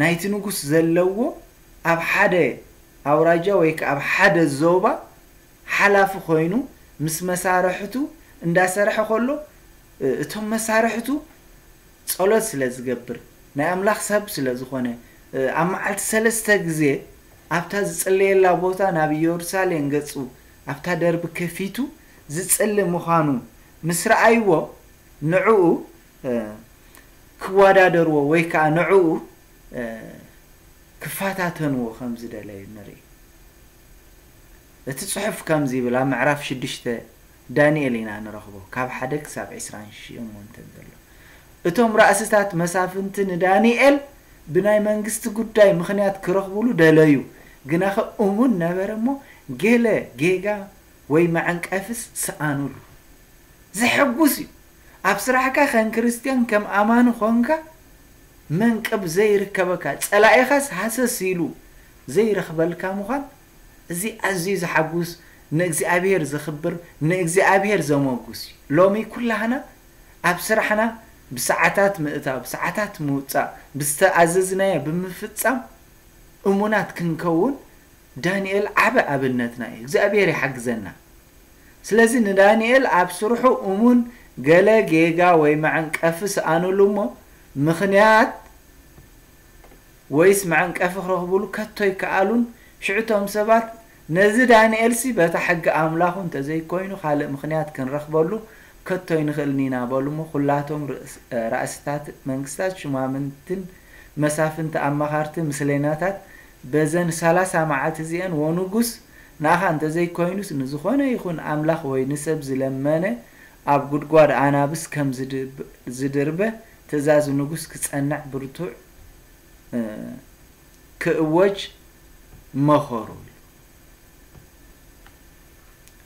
ናይቲ ንጉስ ዘለዎ ኣብ ሓደ ኣውራጃ ወይ ከኣ ኣብ ሓደ ዞባ ሓላፊ ኮይኑ ምስ መሳርሕቱ እንዳሰርሐ ከሎ፣ እ-፣ እቶም መሳርሕቱ ጸሎት ስለ ዝገብር፣ ናይ ኣምላኽ ሰብ ስለ ዝኾነ፣ እ፣ ኣብ መዓልቲ ሰለስተ ግዜ ኣብታ ዝጽለየላ ቦታ ናብ ኢየሩሳሌም ገጹ ኣብታ ደርቢ ከፊቱ ዝጽሊ ምዃኑ ምስ ረኣይዎ፣ ንዕኡ፣ እ፣ ክወዳደርዎ ወይ ከኣ ንዕኡ፣ እ፣ ክፈታተንዎ ከም ዝደለዩ ንርኢ። እቲ ጽሑፍ ከምዚ ይብል፣ ኣብ ምዕራፍ ሽዱሽተ ዳንኤል ኢና ንረኽቦ፣ ካብ ሓደ ክሳብ ዕስራን ሸሞንተን ዘሎ። እቶም ራእስታት መሳፍንቲ ንዳንኤል ብናይ መንግስቲ ጉዳይ ምኽንያት ክረኽብሉ ደለዩ፣ ግናኸ እሙን ነበረ እሞ ገለ ጌጋ ወይ መዐንቀፍስ ሰኣኑሉ። ዘሐጉስ እዩ። ኣብ ስራሕካ ከም ክርስትያን፣ ከም ኣማኒ ኾንካ መንቅብ ዘይርከበካ፣ ጸላኢኻስ ሃሰስ ኢሉ ዘይረኽበልካ ምዃን፣ እዚ ኣዝዩ ዘሓጉስ፣ ንእግዚኣብሔር ዘኽብር፣ ንእግዚኣብሔር ዘመጉስ እዩ። ሎሚ ኩላህና ኣብ ስራሕና ብሰዓታት ምእታው፣ ብሰዓታት ምውጻእ፣ ብዝተኣዘዝናዮ ብምፍጻም እሙናት ክንከውን ዳንኤል ዓቢ ኣብነትና እዩ። እግዚኣብሔር ይሓግዘና። ስለዚ ንዳንኤል ኣብ ስርሑ እሙን ገለ ጌጋ ወይ መዐንቀፊ ሰኣኑሉ እሞ፣ ምኽንያት ወይስ መዐንቀፊ ክረኽቡሉ ከቶ ኣይከኣሉን። ሽዑ እቶም ሰባት፣ "ነዚ ዳንኤልሲ በታ ሕጊ ኣምላኹ እንተዘይኮይኑ ካልእ ምኽንያት ክንረኽበሉ ከቶ ኣይንኽእልን ኢና" በሉ እሞ፣ ኩላቶም ርእስ-፣ ራእስታት መንግስታት፣ ሹማምንትን መሳፍንቲ፣ ኣማኻርቲ፣ ምስሌናታት፣ በዘን ሰላሳ መዓልቲ እዚአን፣ "ወንጉስ፣ ንኣኻ እንተዘይኮይኑስ ንዝኾነ ይኹን ኣምላኽ ወይ ንሰብ ዝለመነ ኣብ ጉድጓድ ኣናብስ ከም ዝድብ-፣ ዝድርበ ትእዛዝ ንጉስ ክጸንዕ ብርቱዕ፣ እ፣ ክእወጅ መኸሩ" ኢሉ።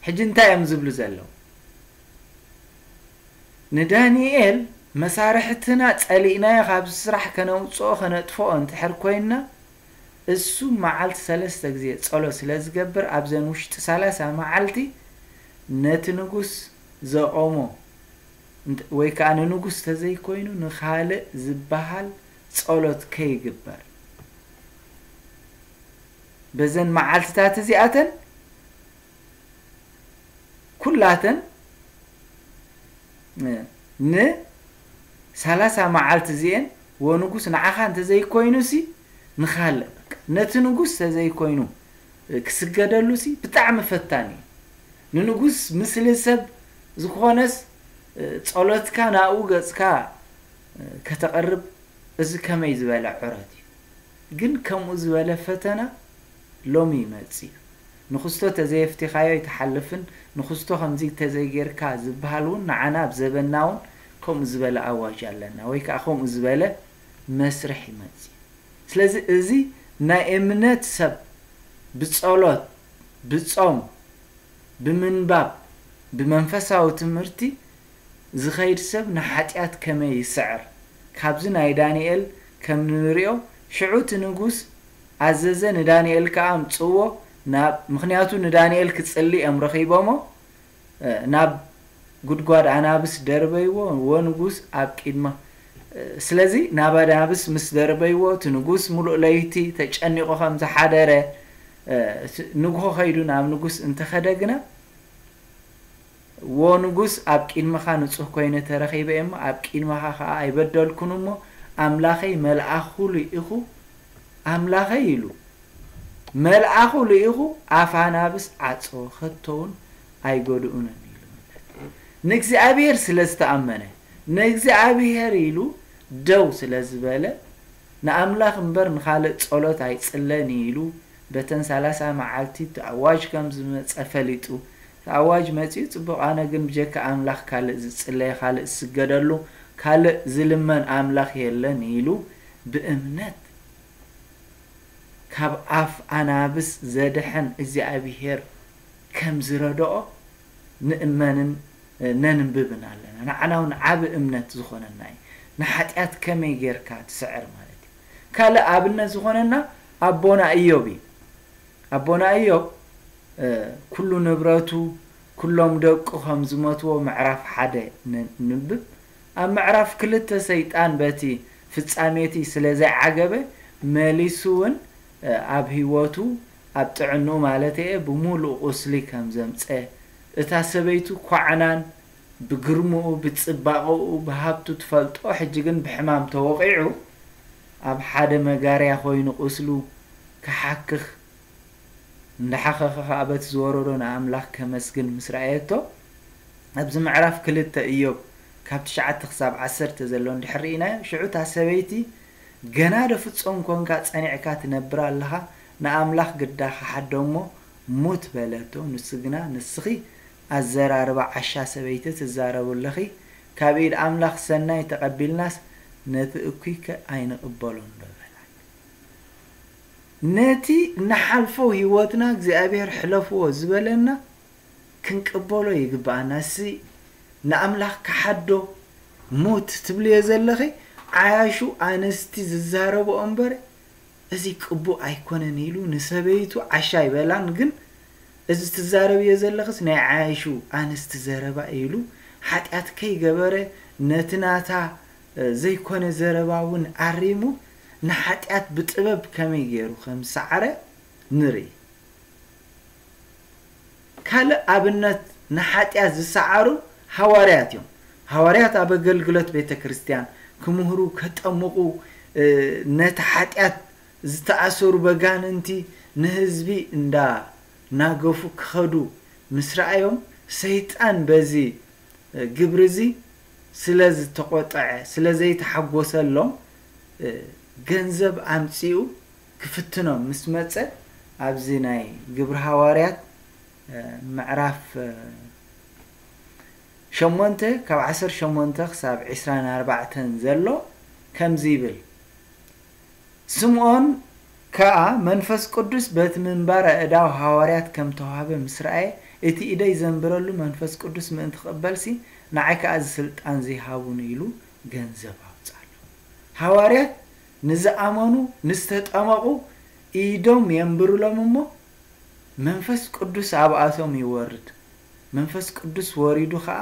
ሕጂ እንታይ እዮም ዝብሉ ዘለዉ? ንዳንኤል፣ "መሳርሕትና ጸሊእናዮ ካብዚ ስራሕ ከነውጽኦ ከነጥፍኦ እንድሕር ኮይንና፣ እሱ መዓልቲ ሰለስተ ግዜ ጸሎት ስለ ዝገብር፣ ኣብዘን ውሽጢ ሰላሳ መዓልቲ ነቲ ንጉስ ዘቖሞ እንተ-፣ ወይ ከኣ ንንጉስ ተዘይኮይኑ ንኻልእ ዝበሃል ጸሎት ከይግበር፣ በዘን መዓልትታት እዚኣተን ኩላተን፣ እ፣ ንሰላሳ መዓልቲ እዚኤን፣ ወንጉስ፣ ንዓኻ እንተዘይኮይኑሲ ንኻልእ፣ በቃ፣ ነቲ ንጉስ ተዘይኮይኑ፣ እ፣ ክስገደሉሲ ብጣዕሚ ፈታኒ እዩ። ንንጉስ ምስሊ ሰብ ዝኾነስ፣ እ፣ ጸሎትካ ናብኡ ገጽካ፣ እ፣ ከተቕርብ፣ እዚ ከመይ ዝበለ ዑረት እዩ። ግን ከምኡ ዝበለ ፈተና ሎሚ ይመጽእ እዩ። ንኽስቶ ተዘየፍቲኻዮ ኣይትሓልፍን፣ ንኽስቶ ከምዚ ተዘይጌርካ ዝበሃል እውን ንዓና ኣብ ዘበንና እውን ከምኡ ዝበለ ኣዋጅ ኣለና፣ ወይ ከኣ ከምኡ ዝበለ መስርሕ ይመጽእ እዩ። ስለዚ እዚ ናይ እምነት ሰብ ብጸሎት፣ ብጾም፣ ብምንባብ፣ ብመንፈሳዊ ትምህርቲ ዝኸይድ ሰብ ንሓጢኣት ከመይ ይስዕር? ካብዚ ናይ ዳንኤል ከም ንሪኦ፣ ሽዑ እቲ ንጉስ ኣዘዘ፣ ንዳንኤል ከኣ ኣምጽእዎ፣ ናብ፣ ምኽንያቱ ንዳንኤል ክጽሊ እዮም ረኺቦሞ፣ እ፣ ናብ ጉድጓድ ኣናብስ ደርበይዎ፣ ወንጉስ ኣብ ቂድማ፣ እ፣ ስለዚ ናብ ኣናብስ ምስ ደርበይዎ፣ እቲ ንጉስ ምሉእ ለይቲ ተጨኒቑ ከም ዝሓደረ፣ እ፣ እቲ ንግሆ ከይዱ ናብ ንጉስ እንተኸደ ግና፣ "ዎ ንጉስ፣ ኣብ ቂድመኻ ንጹህ ኮይነ ተረኺበ እየ እሞ፣ ኣብ ቂድመኻ ኸኣ ኣይበደልኩን እሞ፣ ኣምላኸይ መልኣኹ ልኢኹ፣ ኣምላኸይ" ኢሉ፣ "መልኣኹ ልኢኹ ኣፍ ኣናብስ ዓጾ፣ ከቶ እውን ኣይጎድኡንን" ኢሉ መለሰ። ንእግዚኣብሔር ስለ ዝተኣመነ፣ ንእግዚኣብሔር ኢሉ ደው ስለ ዝበለ፣ ንኣምላኽ እምበር ንኻልእ ጸሎት ኣይጽለን ኢሉ፣ በተን ሰላሳ መዓልቲ እቲ ኣዋጅ ከም ዝመጸ ፈሊጡ፣ እቲ ኣዋጅ መጺኡ፣ "ጽቡቕ፣ ኣነ ግን ብጀካ ኣምላኽ ካልእ ዝጽለየ፣ ካልእ ዝስገደሉ፣ ካልእ ዝልመን ኣምላኽ የለን" ኢሉ ብእምነት ካብ ኣፍ ኣናብስ ዘድሕን እግዚኣብሄር ከም ዝረድኦ ንእመንን ነንብብን ኣለና። ንዓና እውን ዓቢ እምነት ዝኾነና እዩ። ንሓጢኣት ከመይ ጌርካ ትስዕር ማለት እዩ። ካልእ ኣብነት ዝኾነና ኣቦና እዮብ እዩ። ኣቦና እዮብ፣ እ፣ ኩሉ ንብረቱ፣ ኩሎም ደቁ ከም ዝሞትዎ ምዕራፍ ሓደ ን-፣ ንንብብ። ኣብ ምዕራፍ ክልተ ሰይጣን በቲ ፍጻሜቲ ስለ ዘይዓገበ፣ መሊሱ እውን፣ እ፣ ኣብ ህይወቱ፣ ኣብ ጥዕንኡ ማለት እየ፣ ብምሉእ ቁስሊ ከም ዘምጸ፣ እታ ሰበይቱ ኳዕናን ብግርምኡ፣ ብጽባቐኡ፣ ብሃብቱ ትፈልጦ፣ ሕጂ ግን ብሕማም ተወቒዑ፣ ኣብ ሓደ መጋርያ ኮይኑ ቁስሉ ክሓክኽ፣ እንዳሓኸኸ ኸኣ በቲ ዝወረዶ ንኣምላኽ ከመስግን ምስ ረኣየቶ፣ ኣብዚ ምዕራፍ ክልተ እዮብ ካብ ትሽዓተ ክሳብ ዓሰርተ ዘሎ እንድሕር ርኢናዮ፣ ሽዑ እታ ሰበይቲ፣ "ገና ዶ ፍጹም ኰንካ ጸኒዕካ ትነብር ኣለኻ? ንኣምላኽ ግዳ ክሓዶ እሞ ሙት" በለቶ። ንሱ ግና፣ "ንስኺ ኣዘራርባ ዓሻ ሰበይቲ ትዛረቡ ኣለኺ። ካብ ኢድ ኣምላኽ ሰናይ ተቐቢልናስ ነቲ እኩይከ ኣይንቕበሎን ዶ በላ። ነቲ ንሓልፎ ህይወትና እግዚኣብሔር ሕለፍዎ ዝበለና ክንቅበሎ ይግብኣና። እሲ ንኣምላኽ ክሓዶ ሙት ትብልዮ ዘለኺ ዓያሹ ኣንስቲ ዝዛረብኦ እምበር እዚ ቅቡእ ኣይኮነን ኢሉ ንሰበይቱ ዓሻ ኣይበላን። ግን እዚ ትዛረብዮ ዘለኽስ ናይ ዓያሹ ኣንስቲ ዘረባ ኢሉ ሓጢኣት ከይገበረ ነቲ ናታ ዘይኮነ ዘረባ እውን ኣሪሙ ንሓጢኣት ብጥበብ ከመይ ገይሩ ከም ሰዓረ ንርኢ። ካልእ ኣብነት ንሓጢኣት ዝሰዓሩ ሃዋርያት እዮም። ሃዋርያት ኣብ ኣገልግሎት ቤተ ክርስቲያን ክምህሩ፣ ከጠምቑ፣ ነቲ ሓጢኣት ዝተኣሰሩ በጋንንቲ ንህዝቢ እንዳ ናገፉ ክኸዱ ምስ ረኣዮም፣ ሰይጣን በዚ ግብሪ እዚ ስለ ዝተቖጠዐ፣ ስለ ዘይተሓጎሰሎም፣ ገንዘብ ኣምጺኡ ክፍትኖም ምስ መጸ፣ ኣብዚ ናይ ግብሪ ሃዋርያት ምዕራፍ ሸሞንተ ካብ ዓሰርተ ሸሞንተ ክሳብ ዕስራን ኣርባዕተን ዘሎ ከምዚ ይብል። ስምዖን ከኣ መንፈስ ቅዱስ በቲ ምንባር ኣእዳው ሃዋርያት ከም ተዋህበ ምስ ረኣየ፣ እቲ ኢደይ ዘንብረሉ መንፈስ ቅዱስ ምእንቲ ክቕበልሲ፣ ንዓይ ከኣ እዚ ስልጣን እዚ ሃቡኒ ኢሉ ገንዘብ ኣውጻሉ። ሃዋርያት ንዝኣመኑ፣ ንዝተጠመቑ ኢዶም የንብሩሎም እሞ፣ መንፈስ ቅዱስ ኣብኣቶም ይወርድ። መንፈስ ቅዱስ ወሪዱ ኸኣ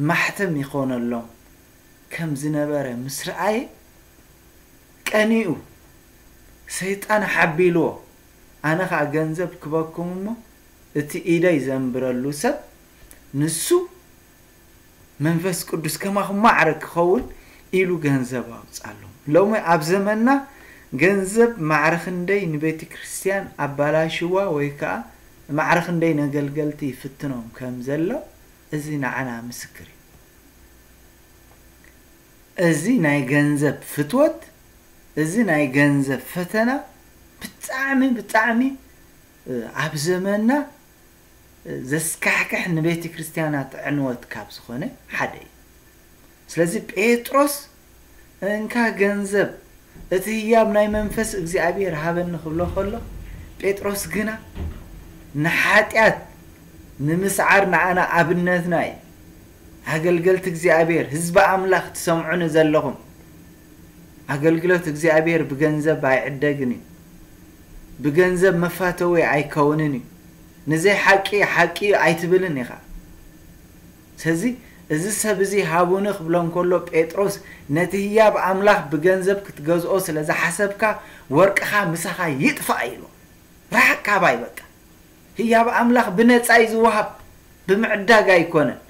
ማሕተም ይኾነሎም ከም ዝነበረ ምስ ረኣየ ቀኒኡ፣ ሰይጣን ሓቢልዎ፣ ኣነ ኸኣ ገንዘብ ክበኩም እሞ፣ እቲ ኢደይ ዘንብረሉ ሰብ ንሱ መንፈስ ቅዱስ ከማኹም ማዕረ ክኸውን ኢሉ ገንዘብ ኣውጻሎም። ሎሚ ኣብ ዘመንና ገንዘብ ማዕረ ክንደይ ንቤተ ክርስቲያን ኣባላሽዋ ወይ ከኣ ማዕረ ክንደይ ነገልገልቲ ይፍትኖም ከም ዘሎ እዚ ንዓና ምስክር እዩ። እዚ ናይ ገንዘብ ፍትወት፣ እዚ ናይ ገንዘብ ፈተና ብጣዕሚ፣ ብጣዕሚ ኣብ ዘመንና ዘስካሕክሕ ንቤተ ክርስቲያናት ዕንወት ካብ ዝኾነ ሓደ እዩ። ስለዚ ጴጥሮስ እንካ ገንዘብ እቲ ህያብ ናይ መንፈስ እግዚኣብሔር ሃበኒ ክብሎ ከሎ፣ ጴጥሮስ ግና ንሓጢኣት ንምስዓር ንዓና ኣብነትና እዩ። ኣገልገልቲ እግዚኣብሔር፣ ህዝቢ ኣምላኽ ትሰምዑኒ ዘለኹም፣ ኣገልግሎት እግዚኣብሔር ብገንዘብ ኣይዕደግን እዩ። ብገንዘብ መፋተዊ ኣይከውንን እዩ። ንዘይ ሓቂ ሓቂ እዩ ኣይትብልን ኢኻ። ስለዚ እዚ ሰብ እዚ ሃቡኒ ክብሎ እንከሎ ጴጥሮስ ነቲ ህያብ ኣምላኽ ብገንዘብ ክትገዝኦ ስለ ዝሓሰብካ ወርቅኻ ምሳኻ ይጥፋእ ኢሉ። ርሓቅ ካባይ በቃ። ህያብ ኣምላኽ ብነጻ እዩ ዝወሃብ፣ ብምዕዳግ ኣይኮነን።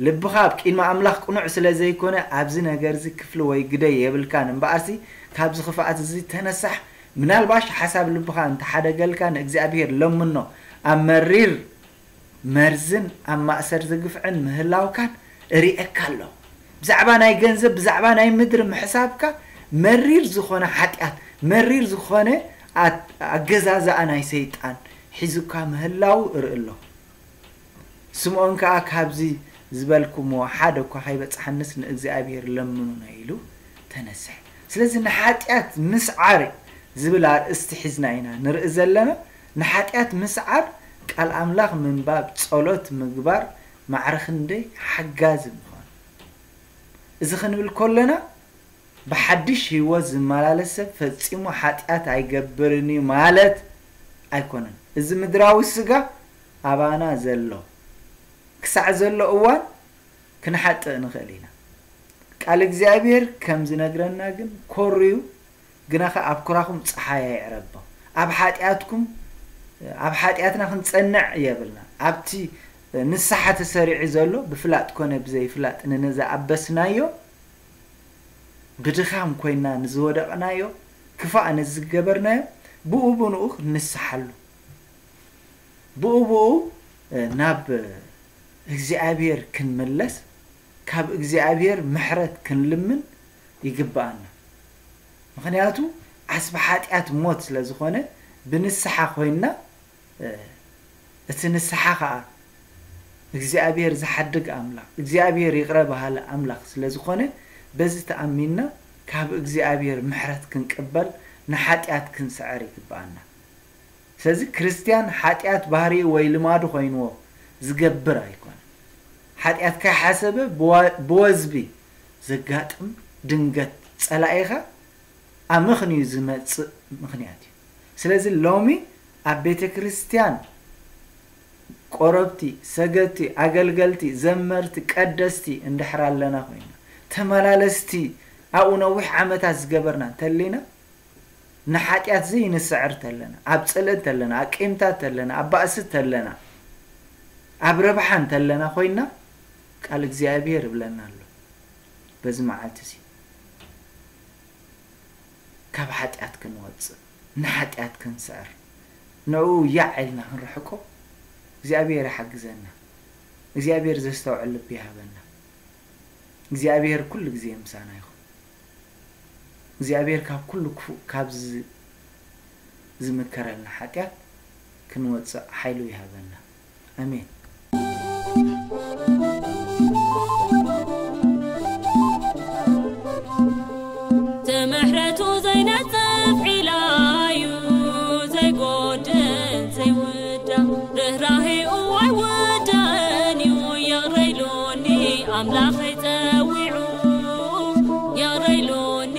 ልብኻ ኣብ ቅድሚ ኣምላኽ ቅኑዕ ስለ ዘይኮነ ኣብዚ ነገር እዚ ክፍሊ ወይ ግደ የብልካን። እምበኣርሲ ካብዚ ክፍኣት እዚ ተነሳሕ። ምናልባሽ ሓሳብ ልብኻ እንተሓደገልካ ንእግዚኣብሔር ለምኖ። ኣብ መሪር መርዝን ኣብ ማእሰርቲ ግፍዕን ምህላውካን እርእየካ ኣለኹ። ብዛዕባ ናይ ገንዘብ፣ ብዛዕባ ናይ ምድሪ ምሕሳብካ መሪር ዝኾነ ሓጢኣት፣ መሪር ዝኾነ ኣገዛዝኣ ናይ ሰይጣን ሒዙካ ምህላው እርኢ ኣለኹ። ስምዖን ከኣ ካብዚ ዝበልኩምዎ ሓደ እኳ ከይበጽሓንስ ንእግዚኣብሔር ለምኑና ኢሉ ተነስሐ። ስለዚ ንሓጢኣት ምስዓር ዝብል ኣርእስቲ ሒዝና ኢና ንርኢ ዘለና። ንሓጢኣት ምስዓር ቃል ኣምላኽ ምንባብ፣ ጸሎት ምግባር ማዕረ ክንደይ ሓጋዚ ምዃኑ። እዚ ክንብል ከለና ብሓድሽ ህይወት ዝመላለስ ሰብ ፈጺሙ ሓጢኣት ኣይገብርን እዩ ማለት ኣይኮነን። እዚ ምድራዊ ስጋ ኣባና ዘሎ ክሳዕ ዘሎ እዋን ክንሓጥእ ንኽእል ኢና። ቃል እግዚኣብሔር ከም ዝነግረና ግን ኮርዩ ግናኸ ኣብ ኩራኹም ጸሓይ ኣይዕረቦ። ኣብ ሓጢኣትኩም ኣብ ሓጢኣትና ክንጸንዕ የብልና። ኣብቲ ንስሓ ተሰሪዑ ዘሎ ብፍላጥ ኮነ ብዘይፍላጥ ንንዝኣበስናዮ ብድኻም ኮይና ንዝወደቕናዮ ክፋእ ንዝገበርናዮ ብኡ ብንኡ ክንስሓሉ ብኡ ብኡ ናብ እግዚኣብሔር ክንምለስ ካብ እግዚኣብሔር ምሕረት ክንልምን ይግብኣና። ምኽንያቱ ዓስቢ ሓጢኣት ሞት ስለ ዝኾነ ብንስሓ ኮይንና እቲ ንስሓ ኸዓ እግዚኣብሔር ዝሓድግ ኣምላኽ፣ እግዚኣብሔር ይቕረ በሃሊ ኣምላኽ ስለ ዝኾነ፣ በዚ ተኣሚንና ካብ እግዚኣብሔር ምሕረት ክንቅበል፣ ንሓጢኣት ክንስዕር ይግብኣና። ስለዚ ክርስትያን ሓጢኣት ባህሪኡ ወይ ልማዱ ኮይንዎ ዝገብር ኣይኮነን። ሓጢኣት ከይሓሰበ ብዋ-፣ ብወዝቢ ዘጋጥም ድንገት ጸላኢኻ ኣመኽንዩ ዝመጽእ ምኽንያት እዩ። ስለዚ ሎሚ ኣብ ቤተ ክርስትያን ቆረብቲ፣ ሰገድቲ፣ ኣገልገልቲ፣ ዘመርቲ፣ ቀደስቲ እንድሕር ኣለና ኮይና፣ ተመላለስቲ ኣብኡ ነዊሕ ዓመታት ዝገበርና እንተሊና፣ ንሓጢኣት ዘይንስዕር ተለና፣ ኣብ ጽልኢ እንተለና፣ ኣብ ቂምታ እንተለና፣ ኣብ ባእሲ እንተለና፣ ኣብ ረብሓ እንተለና ኮይና፣ ቃል እግዚኣብሔር ይብለና ኣሎ። በዚ መዓልቲ እዚ ካብ ሓጢኣት ክንወጽእ፣ ንሓጢኣት ክንስዕር፣ ንዕኡ ያዕ ኢልና ክንርሕቆ እግዚኣብሔር ይሓግዘና። እግዚኣብሔር ዘስተውዕል ልቢ ይሃበና። እግዚኣብሔር ኩሉ ግዜ ምሳና ይኹን። እግዚኣብሔር ካብ ኩሉ ክፉእ፣ ካብ ዝ-፣ ዝምከረልና ሓጢኣት ክንወጽእ ሓይሉ ይሃበና። ኣሜን። ትምሕረቱ ዘይነጽፍ ዒላዩ፣ ዘይጎድል ዘይውዳእ፣ ርህራሄኡ ኣይውዳእን እዩ። ይቕረ ኢሉኒ ኣምላኸይ ጸዊዑ፣ ይቕረ ኢሉኒ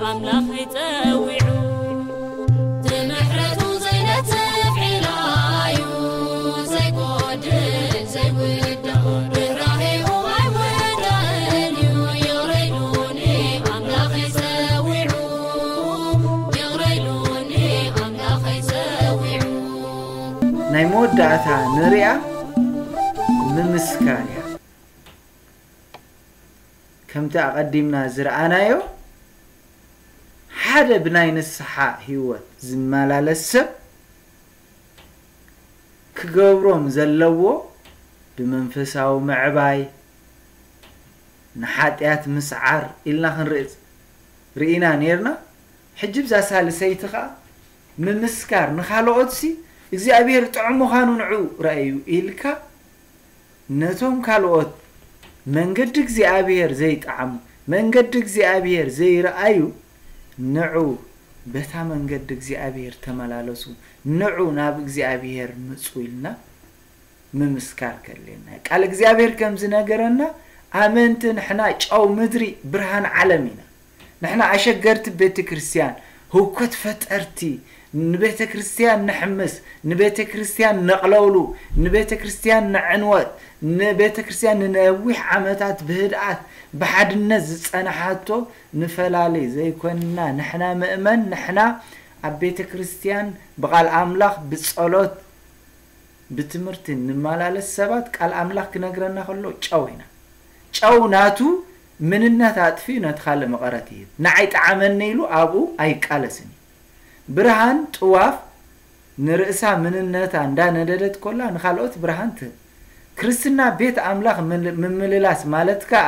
ኣምላኸይ ጸዊዑ። ትምሕረቱ ዘይነጽፍ ዒላዩ፣ ዘይጎድል ዘይውዳእ፣ ርህራሄኡ ኣይውዳእን እዩ። ይቕረ ኢሉኒ ኣምላኸይ ጸዊዑ፣ ይቕረ ኢሉኒ ኣምላኸይ ጸዊዑ። ናይ መወዳእታ ንሪኣ ምምስካር እያ። ከምቲ ኣቐዲምና ዝረኣናዮ፣ ሓደ ብናይ ንስሓ ህይወት ዝመላለስ ሰብ ክገብሮም ዘለዎ ብመንፈሳዊ ምዕባይ፣ ንሓጢኣት ምስዓር ኢልና ክንርኢ ርኢና ኔርና። ሕጂ ብዛ ሳልሰይቲ ኸኣ ምምስካር፣ ንኻልኦትሲ እግዚኣብሔር ጥዑም ምዃኑ ንዑ ረኣዩ ኢልካ፣ ነቶም ካልኦት መንገዲ እግዚኣብሔር ዘይጠዓሙ፣ መንገዲ እግዚኣብሔር ዘይረኣዩ፣ ንዑ በታ መንገዲ እግዚኣብሔር ተመላለሱ፣ ንዑ ናብ እግዚኣብሔር ምጹ ኢልና ምምስካር ከድልየና እዩ። ቃል እግዚኣብሔር ከም ዝነገረና፣ ኣመንቲ ንሕና ጨው ምድሪ ብርሃን ዓለም ኢና። ንሕና ኣሸገርቲ ቤተ ክርስትያን፣ ህውከት ፈጠርቲ፣ ንቤተ ክርስትያን ንሕምስ፣ ንቤተ ክርስትያን ነቕለውሉ፣ ንቤተ ክርስትያን ንዕንወት፣ ንቤተ ክርስትያን ንነዊሕ ዓመታት ብህድኣት ብሓድነት ዝጸንሓቶ ንፈላሊ ዘይኮንና። ንሕና ምእመን፣ ንሕና ኣብ ቤተ ክርስትያን ብቓል ኣምላኽ ብጸሎት ብትምህርቲ ንመላለስ ሰባት ቃል ኣምላኽ ክነግረና ከሎ ጨው ኢና። ጨው ናቱ ምንነት ኣጥፊኡ ነቲ ካልእ መቐረት ይህብ። ንዓይ ጠዓመኒ ኢሉ ኣብኡ ኣይቃለስን እዩ። ብርሃን ጥዋፍ ንርእሳ ምንነታ እንዳነደደት ኮላ ንኻልኦት ብርሃን ትህብ። ክርስትና ቤት ኣምላኽ ምል-፣ ምምልላስ ማለት ከኣ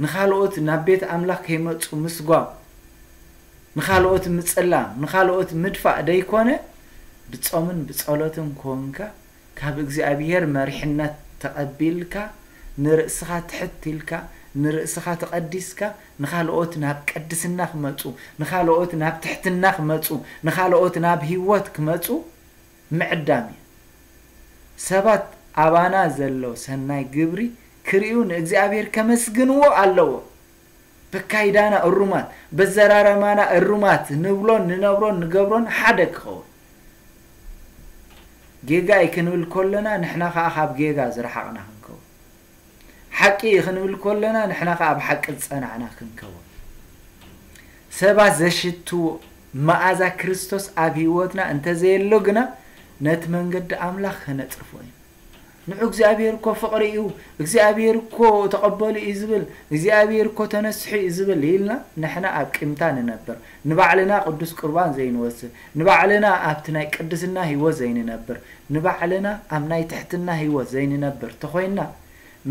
ንኻልኦት ናብ ቤት ኣምላኽ ከይመጹ ምስጓም፣ ንኻልኦት ምጽላም፣ ንኻልኦት ምድፋእ ደይኮነ፣ ብጾምን ብጸሎትን ኮንካ፣ ካብ እግዚኣብሔር መሪሕነት ተቐቢልካ፣ ንርእስኻ ትሕት ኢልካ፣ ንርእስኻ ተቐዲስካ፣ ንኻልኦት ናብ ቅድስና ክመጹ፣ ንኻልኦት ናብ ትሕትና ክመጹ፣ ንኻልኦት ናብ ህይወት ክመጹ ምዕዳም እዩ። ሰባት ኣባና ዘሎ ሰናይ ግብሪ ክርእዩ ንእግዚኣብሔር ከመስግንዎ ኣለዎ። በካይዳና እሩማት፣ በዘራረማና እሩማት ንብሎን ንነብሮን ንገብሮን ሓደ ክኸውን። ጌጋ እዩ ክንብል ከለና ንሕና ኸኣ ካብ ጌጋ ዝረሓቕና ክንከውን። ሓቂ እዩ ክንብል ከለና ንሕና ኸኣ ኣብ ሓቂ ዝጸናዕና ክንከውን። ሰባት ዘሽትዎ መኣዛ ክርስቶስ ኣብ ህይወትና እንተዘየሎ ግና ነቲ መንገዲ ኣምላኽ ከነጽርፎ እዩ። ንዑ እግዚኣብሔር እኮ ፍቕሪ እዩ፣ እግዚኣብሔር እኮ ተቐበሉ እዩ ዝብል፣ እግዚኣብሔር እኮ ተነስሑ እዩ ዝብል ኢልና ንሕና ኣብ ቂምታ ንነብር፣ ንባዕልና ቅዱስ ቁርባን ዘይንወስድ፣ ንባዕልና ኣብቲ ናይ ቅድስና ህይወት ዘይንነብር፣ ንባዕልና ኣብ ናይ ትሕትና ህይወት ዘይንነብር ተኾይንና፣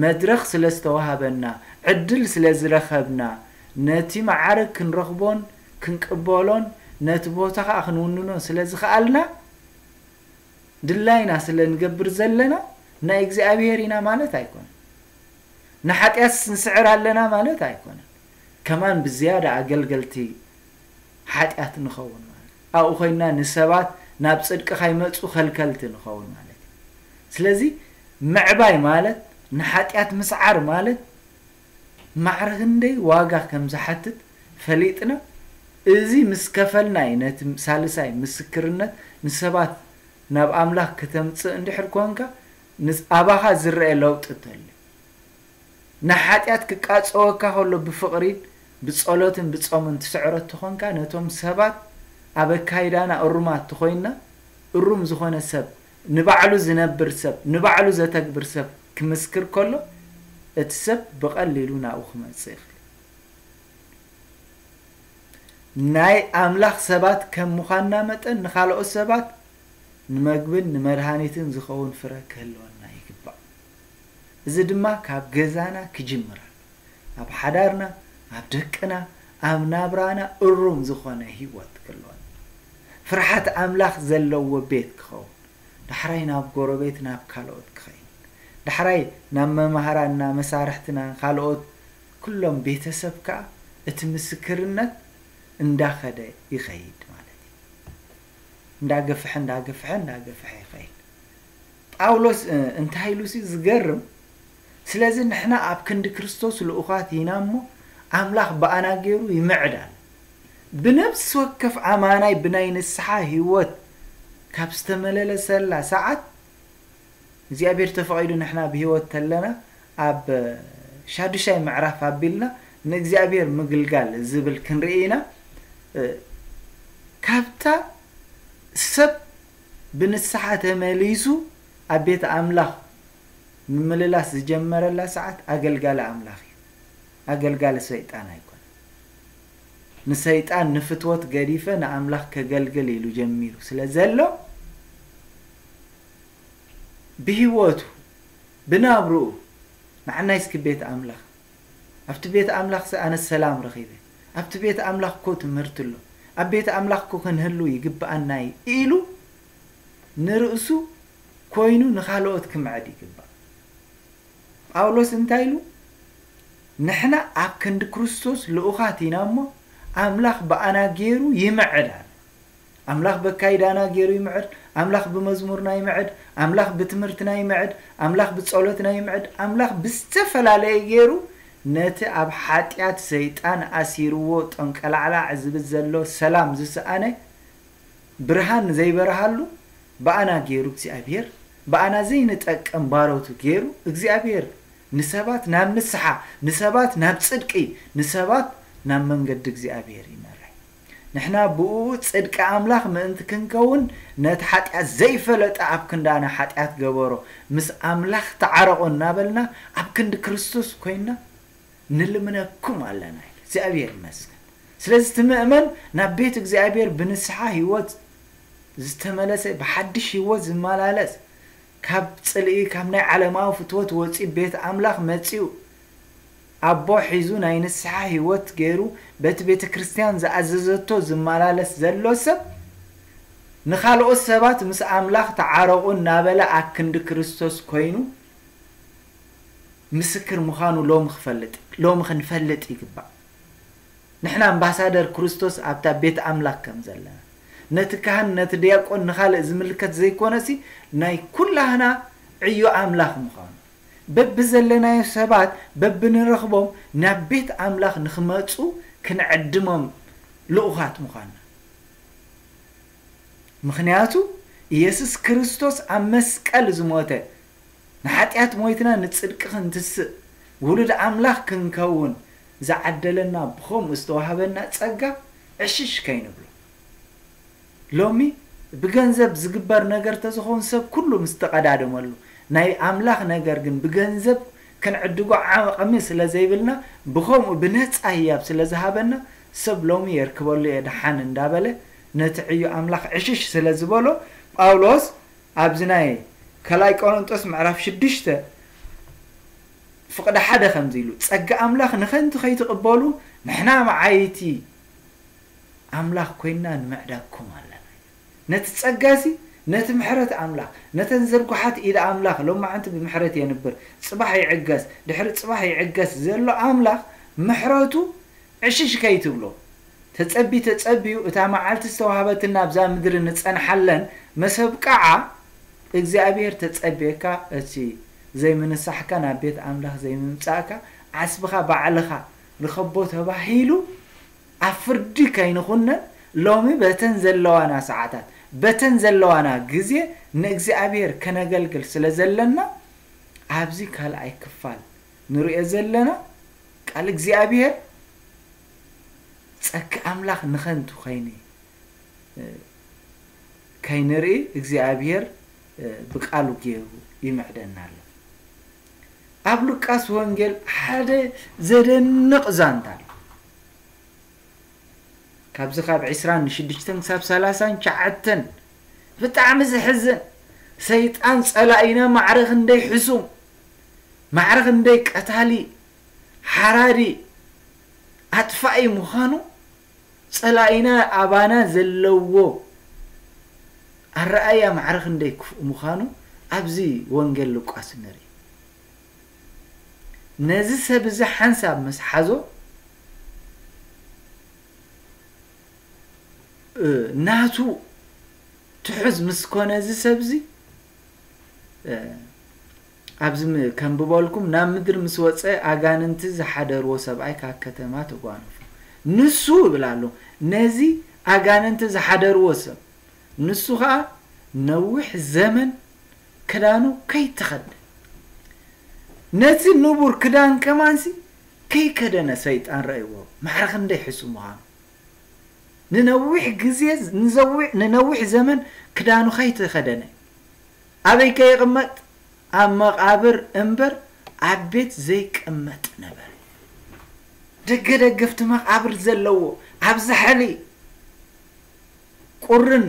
መድረኽ ስለ ዝተዋህበና፣ ዕድል ስለ ዝረኸብና፣ ነቲ መዓርግ ክንረኽቦን ክንቅበሎን ነቲ ቦታ ኸኣ ክንውንኖን ስለ ዝኸኣልና፣ ድላይና ስለ ንገብር ዘለና፣ ናይ እግዚኣብሔር ኢና ማለት ኣይኮነን። ንሓጢኣት ንስዕር ኣለና ማለት ኣይኮነን። ከማን ብዝያዳ ኣገልገልቲ ሓጢኣት ንኸውን ማለት ኣብኡ ኮይና ንሰባት ናብ ጽድቂ ካይመጹ ከልከልቲ ንኸውን ማለት እዩ። ስለዚ ምዕባይ ማለት ንሓጢኣት ምስዓር ማለት ማዕረ ክንደይ ዋጋ ከም ዝሓትት ፈሊጥና፣ እዚ ምስ ከፈልና እዩ ነቲ ሳልሳይ ምስክርነት ንሰባት ናብ ኣምላኽ ከተምጽእ እንድሕር ኮንካ፣ ንስ-፣ ኣባኻ ዝረአ ለውጢ እንተሎ። ንሓጢኣት ክቃጸወካ ከሎ ብፍቕሪን ብጸሎትን ብጾምን ትስዕሮ እንተኾንካ፣ ነቶም ሰባት ኣብ ኣካይዳና እሩማት ተኾይንና፣ እሩም ዝኾነ ሰብ፣ ንባዕሉ ዝነብር ሰብ፣ ንባዕሉ ዘተግብር ሰብ ክምስክር ከሎ፣ እቲ ሰብ ብቐሊሉ ናብኡ ክመጽእ ይኽእል። ናይ ኣምላኽ ሰባት ከም ምዃንና መጠን፣ ንኻልኦት ሰባት ንመግብን ንመድሃኒትን ዝኸውን ፍረ ክህልወና ይግባእ። እዚ ድማ ካብ ገዛና ክጅምር ኣሎ። ኣብ ሓዳርና፣ ኣብ ደቅና፣ ኣብ ናብራና እሩም ዝኾነ ህይወት ክህልወና። ፍርሓት ኣምላኽ ዘለዎ ቤት ክኸውን። ዳሕራይ ናብ ጎረቤት፣ ናብ ካልኦት ክኸይድ። ዳሕራይ ናብ መማህራንና፣ መሳርሕትና፣ ካልኦት ኩሎም ቤተሰብ ከኣ እቲ ምስክርነት እንዳኸደ ይኸይድ ማለት እዩ። እንዳገፍሐ፣ እንዳገፍሐ፣ እንዳገፍሐ ይኸይድ። ጳውሎስ፣ እ፣ እንታይ ኢሉ ሲ ዝገርም፣ ስለዚ ንሕና ኣብ ክንዲ ክርስቶስ ልኡኻት ኢና እሞ፣ ኣምላኽ ብኣና ገይሩ ይምዕድ ኣሎ። ብነፍሲ ወከፍ ኣማናይ ብናይ ንስሓ ህይወት ካብ ዝተመለለሰላ ሰዓት፣ እግዚኣብሔር ተፈቒዱ ንሕና ብህይወት ተለና፣ ኣብ ሻዱሻይ ምዕራፍ ኣቢልና ንእግዚኣብሔር ምግልጋል ዝብል ክንርኢ ኢና። እ፣ ካብታ ሰብ ብንስሓ ተመሊሱ ኣብ ቤት ኣምላኽ ምምልላስ ዝጀመረላ ሰዓት ኣገልጋሊ ኣምላኽ እዩ። ኣገልጋሊ ሰይጣን ኣይኮነን። ንሰይጣን ንፍትወት ገዲፈ ንኣምላኽ ከገልግል ኢሉ ጀሚሩ ስለ ዘሎ፣ ብህይወቱ፣ ብናብርኡ፣ ንዓናይ እስኪ ቤት ኣምላኽ፣ ኣብቲ ቤት ኣምላኽ ሲ ኣነ ሰላም ረኺበ፣ ኣብቲ ቤት ኣምላኽ እኮ ትምህርቲ ኣሎ፣ ኣብ ቤት ኣምላኽ እኮ ክንህሉ ይግብኣና እዩ ኢሉ ንርእሱ ኮይኑ ንኻልኦት ክምዕድ ይግባእ። ጳውሎስ እንታይ ኢሉ? ንሕና ኣብ ክንዲ ክርስቶስ ልኡኻት ኢና እሞ፣ ኣምላኽ ብኣና ገይሩ ይምዕድ ኣሎ። ኣምላኽ በካይዳና ገይሩ ይምዕድ፣ ኣምላኽ ብመዝሙርና ይምዕድ፣ ኣምላኽ ብትምህርትና ይምዕድ፣ ኣምላኽ ብጸሎትና ይምዕድ፣ ኣምላኽ ብዝተፈላለየ ገይሩ ነቲ ኣብ ሓጢኣት ሰይጣን ኣሲርዎ ጠንቀላዕላዕ ዝብል ዘሎ ሰላም ዝሰኣነ ብርሃን ዘይበርሃሉ ብኣና ገይሩ እግዚኣብሔር ብኣና ዘይንጠቀም ባሮቱ ገይሩ እግዚኣብሔር ንሰባት ናብ ንስሓ፣ ንሰባት ናብ ጽድቂ፣ ንሰባት ናብ መንገዲ እግዚኣብሔር ይመርሕ። ንሕና ብኡ ጽድቂ ኣምላኽ ምእንቲ ክንከውን ነቲ ሓጢኣት ዘይፈለጠ ኣብ ክንዳና ሓጢኣት ገበሮ፣ ምስ ኣምላኽ ተዓረቑ እናበልና ኣብ ክንዲ ክርስቶስ ኮይንና ንልምነኩም ኣለና። እግዚኣብሔር ይመስገን። ስለዚ እቲ ምእመን ናብ ቤት እግዚኣብሔር ብንስሓ ህይወት ዝተመለሰ፣ ብሓድሽ ህይወት ዝመላለስ፣ ካብ ጽልኢ፣ ካብ ናይ ዓለማዊ ፍትወት ወጺኡ ቤት ኣምላኽ መጺኡ ኣቦ ሒዙ ናይ ንስሓ ህይወት ገይሩ በቲ ቤተ ክርስቲያን ዝኣዘዘቶ ዝመላለስ ዘሎ ሰብ ንኻልኦት ሰባት ምስ ኣምላኽ ተዓረቑ እናበለ ኣክንዲ ክርስቶስ ኮይኑ ምስክር ምዃኑ ሎሚ ክፈልጥ፣ ሎሚ ክንፈልጥ ይግባእ። ንሕና ኣምባሳደር ክርስቶስ ኣብታ ቤት ኣምላኽ ከም ዘለና፣ ነቲ ካህን፣ ነቲ ዲያቆን፣ ንኻልእ ዝምልከት ዘይኮነሲ፣ ናይ ኩላህና ዕዮ ኣምላኽ ምዃኑ፣ በብዘለናዮ ሰባት፣ በብንረኽቦም ናብ ቤት ኣምላኽ ንኽመጹ ክንዕድሞም ልኡኻት ምዃንና። ምኽንያቱ፣ ኢየሱስ ክርስቶስ ኣብ መስቀል ዝሞተ፣ ንሓጢኣት ሞይትና ንጽድቂ ክንትስእ፣ ውሉድ ኣምላኽ ክንከውን ዝዓደለና፣ ብኸምኡ ዝተዋህበና ጸጋ ዕሽሽ ከይንብሎ። ሎሚ ብገንዘብ ዝግበር ነገር ተዝኸውን ሰብ ኩሉ ምስ ተቐዳደመሉ፣ ናይ ኣምላኽ ነገር ግን ብገንዘብ ክንዕድጎ ዓቕሚ ስለ ዘይብልና፣ ብኸምኡ ብነጻ ህያብ ስለ ዝሃበና፣ ሰብ ሎሚ የርክበሉ እየ ደሓን እንዳበለ ነቲ ዕዮ ኣምላኽ ዕሽሽ ስለ ዝበሎ፣ ጳውሎስ ኣብዚ ናይ ካልኣይ ቆሮንጦስ ምዕራፍ ሽዱሽተ ፍቕዲ ሓደ ከምዚ ኢሉ፣ "ጸጋ ኣምላኽ ንኸንቱ ከይትቕበሉ ንሕና መዓይቲ ኣምላኽ ኮይንና ንምዕዳግኩም ኣለና." ነቲ ጸጋሲ ነቲ ምሕረት ኣምላኽ፣ ነተን ዝርጉሓት ኢድ ኣምላኽ፣ ሎማዓንቲ ብምሕረት የንብር፣ ጽባሕ ይዕገስ፣ ድሕሪ ጽባሕ ይዕገስ ዘሎ ኣምላኽ፣ ምሕረቱ ዕሽሽ ከይትብሎ። ተጸቢ ተጸብዩ፣ እታ መዓልቲ ዝተዋህበትና ኣብዛ ምድሪ ንጸንሓለን መሰብቃዓ እግዚኣብሔር ተጸብየካ፣ እቲ ዘይምንሳሕካ ናብ ቤት ኣምላኽ ዘይምምጻእካ፣ ዓስብኻ ባዕልኻ ርኸቦ ተባሂሉ ኣብ ፍርዲ ከይንኹነን፣ ሎሚ በተን ዘለዋና ሰዓታት፣ በተን ዘለዋና ግዜ ንእግዚኣብሔር ከነገልግል ስለ ዘለና፣ ኣብዚ ካልኣይ ክፋል ንርእዮ ዘለና ቃል እግዚኣብሔር ጸኪ ኣምላኽ ንኸንቱ ኸይኒ-፣ ከይንርኢ እግዚኣብሔር ብቃሉ ገይሩ ይምዕደና ኣሎ። ኣብ ሉቃስ ወንጌል ሓደ ዘደንቕ ዛንታ ኣሎ። ካብዚ ካብ ዕስራን ሽዱሽተን ክሳብ ሰላሳን ትሽዓተን ብጣዕሚ ዘሕዝን፣ ሰይጣን ጸላኢና ማዕረ ክንደይ ሕሱም፣ ማዕረ ክንደይ ቀታሊ፣ ሓራዲ፣ ኣጥፋኢ ምዃኑ፣ ጸላኢና ኣባና ዘለዎ ኣረኣእያ ማዕረ ክንደይ ክፉእ ምዃኑ ኣብዚ ወንጌል ሉቃስ ንርኢ። ነዚ ሰብ እዚ ሓንሳብ ምስ ሓዞ፣ እ፣ ናቱ ትሑዝ ምስ ኮነ እዚ ሰብ እዚ፣ እ፣ ኣብዚ ም-፣ ከንብበልኩም፣ ናብ ምድሪ ምስ ወጸ ኣጋንንቲ ዝሓደርዎ ሰብኣይ ካብ ከተማ ተጓነፉ። ንሱ ይብል ኣሎ፣ ነዚ ኣጋንንቲ ዝሓደርዎ ሰብ፣ ንሱ ኸኣ ነዊሕ ዘመን ክዳኑ ከይተኸድነ፣ ነቲ ንቡር ክዳን ከማንሲ ከይከደነ ሰይጣን ረእይዎ። ማዕረ ክንደይ ሕሱም ምዃኑ። ንነዊሕ ግዜ፣ ንዘዊ-፣ ንነዊሕ ዘመን ክዳኑ ከይተኸደነ። ኣበይ ከይቕመጥ? ኣብ መቓብር እምበር ኣብ ቤት ዘይቅመጥ ነበረ። ደገ ደገፍቲ መቓብር ዘለዎ፣ ኣብ ዛሕሊ ቁርን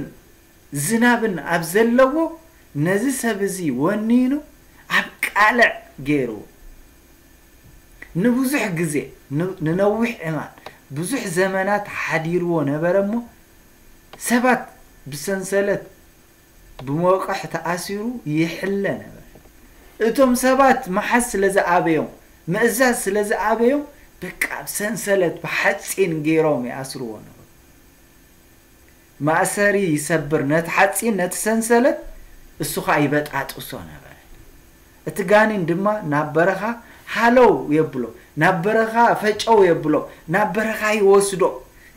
ዝናብን ኣብ ዘለዎ፣ ነዚ ሰብ እዚ ወኒኑ ኣብ ቃልዕ ገይርዎ። ንብዙሕ ግዜ፣ ን-፣ ንነዊሕ እዋን፣ ብዙሕ ዘመናት ሓዲርዎ ነበረ እሞ፣ ሰባት ብሰንሰለት ብመወቕሕ ተኣሲሩ ይሕለ ነበረ። እቶም ሰባት ምሓዝ ስለ ዝኣበዮም፣ ምእዛዝ ስለ ዝኣበዮም፣ በቃ ብሰንሰለት ብሓጺን ገይሮም ይኣስርዎ ነበሩ። ማእሰሪ ይሰብር፣ ነቲ ሓጺን፣ ነቲ ሰንሰለት፣ እሱ ኸኣ ይበጣጥሶ ነበረ። እቲ ጋኔን ድማ ናብ በረኻ ሃለው የብሎ፣ ናብ በረኻ ፈጨው የብሎ፣ ናብ በረኻ ይወስዶ፣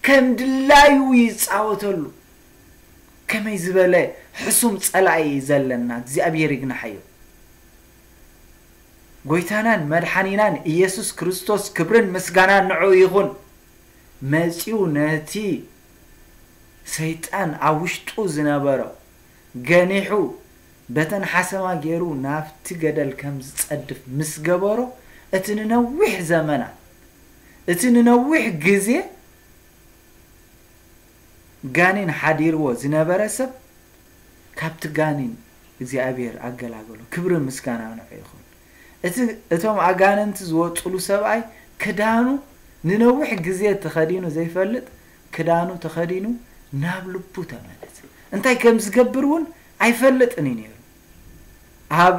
ከም ድላዩ ይጻወተሉ። ከመይ ዝበለ ሕሱም ጸላኢ እዩ ዘለና፣ እግዚኣብሔር ይግናሓዮ። ጎይታናን መድሓኒናን ኢየሱስ ክርስቶስ፣ ክብርን ምስጋናን ንዕኡ ይኹን፣ መጺኡ ነቲ ሰይጣን ኣብ ውሽጡ ዝነበሮ ገኒሑ፣ በተን ሓሰማ ገይሩ ናብቲ ገደል ከም ዝጸድፍ ምስ ገበሮ፣ እቲ ንነዊሕ ዘመናት፣ እቲ ንነዊሕ ግዜ ጋኔን ሓዲርዎ ዝነበረ ሰብ፣ ካብቲ ጋኔን እግዚኣብሔር ኣገላገሎ። ክብርን ምስጋናን ንዑ ይኹን። እቲ፣ እቶም ኣጋንንቲ ዝወጹሉ ሰብኣይ ክዳኑ ንነዊሕ ግዜ ተኸዲኑ ዘይፈልጥ ክዳኑ ተኸዲኑ ናብ ልቡ ተመለሰ። እንታይ ከም ዝገብር እውን ኣይፈልጥን እዩ ነይሩ። ኣብ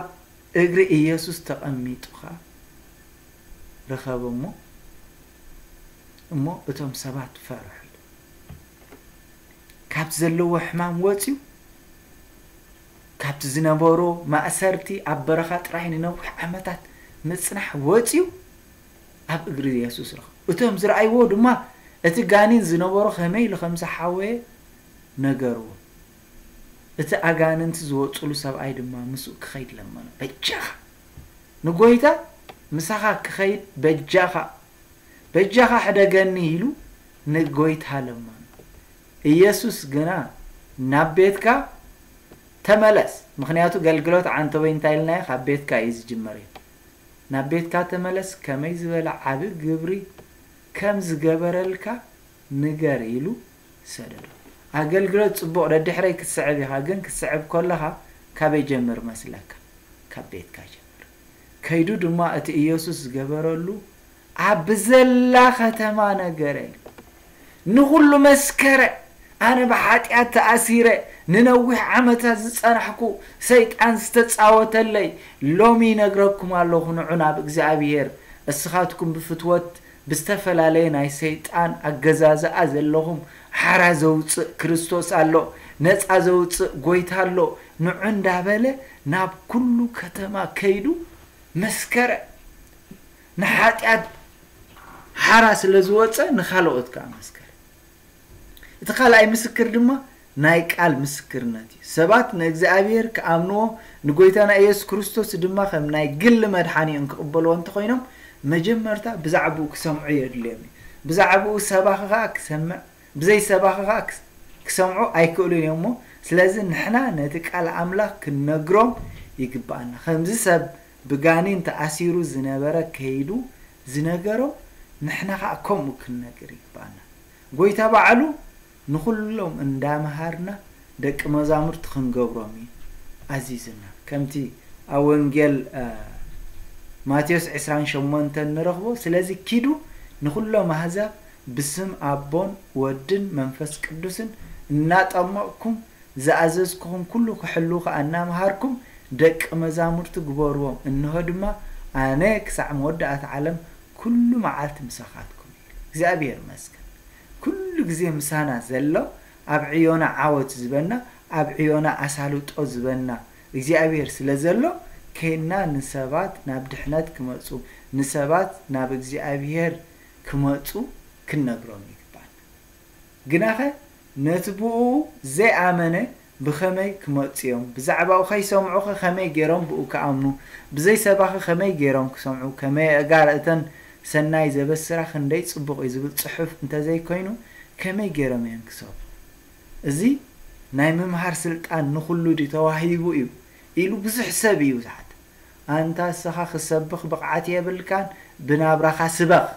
እግሪ ኢየሱስ ተቐሚጡ ኸኣ ረኸቦ እሞ፣ እሞ እቶም ሰባት ፈርሑ ኢሉ። ካብ ዘለዎ ሕማም ወጽዩ፣ ካብቲ ዝነበሮ ማእሰርቲ ኣብ በረኻ ጥራይ ንነዊሕ ዓመታት ምጽናሕ ወጽዩ ኣብ እግሪ የሱስ ረኸቦ። እቶም ዝረኣይዎ ድማ እቲ ጋኔን ዝነበሮ ከመይ ኢሉ ከም ዝሓወየ ነገርዎ። እቲ ኣጋንንቲ ዝወጽሉ ሰብኣይ ድማ ምስኡ ክኸይድ ለመኖ። በጃኻ ንጎይታ ምሳኻ ክኸይድ በጃኻ፣ በጃኻ ሕደገኒ ኢሉ ንጎይታ ለመኖ። ኢየሱስ ግና ናብ ቤትካ ተመለስ፣ ምኽንያቱ ገልግሎት ዓንተቦይ እንታይ ኢልናዮ? ካብ ቤትካ እዩ ዝጅመር እዩ። ናብ ቤትካ ተመለስ፣ ከመይ ዝበለ ዓቢ ግብሪ ከም ዝገበረልካ ንገር ኢሉ ሰደዶ። ኣገልግሎት ጽቡቕ ደድሕረይ ክትስዕብ ኢኻ፣ ግን ክትስዕብ ከለኻ ካበይ ጀምር መስለካ? ካብ ቤትካ ጀምር። ከይዱ ድማ እቲ ኢየሱስ ዝገበረሉ ኣብ ብዘላ ከተማ ነገረ። ንኹሉ መስከረ፣ ኣነ ብሓጢኣት ተኣሲረ፣ ንነዊሕ ዓመታት ዝጸናሕኩ ሰይጣን ዝተጻወተለይ፣ ሎሚ ይነግረኩም ኣለኹ፣ ንዑ ናብ እግዚኣብሔር። እስኻትኩም ብፍትወት ብዝተፈላለየ ናይ ሰይጣን ኣገዛዝኣ ዘለኹም፣ ሓራ ዘውጽእ ክርስቶስ ኣሎ፣ ነጻ ዘውጽእ ጎይታ ኣሎ፣ ንዑ እንዳበለ ናብ ኩሉ ከተማ ከይዱ መስከረ። ንሓጢኣት ሓራ ስለ ዝወጸ ንኻልኦት ከኣ መስከረ። እቲ ካልኣይ ምስክር ድማ ናይ ቃል ምስክርነት እዩ። ሰባት ንእግዚኣብሔር ክኣምንዎ፣ ንጎይታና ኢየሱስ ክርስቶስ ድማ ከም ናይ ግሊ መድሓኒኦም ክቕበልዎ እንተኾይኖም፣ መጀመርታ ብዛዕባኡ ክሰምዑ የድልዮም እዩ። ብዛዕባኡ ሰባኺ ኸኣ ክሰምዕ፣ ብዘይ ሰባኺ ኸኣ ክስ-፣ ክሰምዑ ኣይክእሉን እዮም እሞ፣ ስለዚ ንሕና ነቲ ቃል ኣምላኽ ክንነግሮም ይግብኣና። ከምዚ ሰብ ብጋኔን ተኣሲሩ ዝነበረ ከይዱ ዝነገሮም፣ ንሕና ኸኣ ከምኡ ክንነግር ይግብኣና። ጎይታ ባዕሉ ንኹሎም እንዳመሃርና ደቂ መዛሙርቲ ክንገብሮም እዩ ኣዚዙና። ከምቲ ኣብ ወንጌል፣ እ፣ ማቴዎስ ዕስራን ሸሞንተን ንረኽቦ፣ ስለዚ ኪዱ ንኹሎም ኣህዛብ ብስም ኣቦን ወድን መንፈስ ቅዱስን እናጠመቕኩም ዝኣዘዝኩኹም ኩሉ ክሕልዉ ኸኣ እናመሃርኩም ደቂ መዛሙርቲ ግበርዎም። እንሆ ድማ ኣነ ክሳዕ መወዳእታ ዓለም ኩሉ መዓልቲ ምሳኻትኩም እየ። እግዚኣብሔር ይመስገን። ኩሉ ግዜ ምሳና ዘሎ፣ ኣብ ዕዮና ዓወት ዝበና፣ ኣብ ዕዮና ኣሳልጦ ዝበና እግዚኣብሔር ስለ ዘሎ፣ ከይና ንሰባት ናብ ድሕነት ክመጹ፣ ንሰባት ናብ እግዚኣብሔር ክመጹ ክንነግሮም ይግባና። ግናኸ ነቲ ብኡ ዘይኣመነ ብኸመይ ክመጹ እዮም? ብዛዕባኡ ከይሰምዑኸ ከመይ ገይሮም ብኡ ክኣምኑ? ብዘይ ሰባኺ ከመይ ገይሮም ክሰምዑ? ከመይ ኣእጋር እተን ሰናይ ዘበስራ ክንደይ ጽቡቕ እዩ ዝብል ጽሑፍ እንተዘይኮይኑ፣ ከመይ ገይሮም እዮም ክሰምዑ? እዚ ናይ ምምሃር ስልጣን ንኹሉ ድዩ ተዋሂቡ እዩ ኢሉ ብዙሕ ሰብ እዩ ዝሓትት። ኣንታ እስኻ ክሰብኽ ብቕዓት የብልካን፣ ብናብራኻ ስበኽ።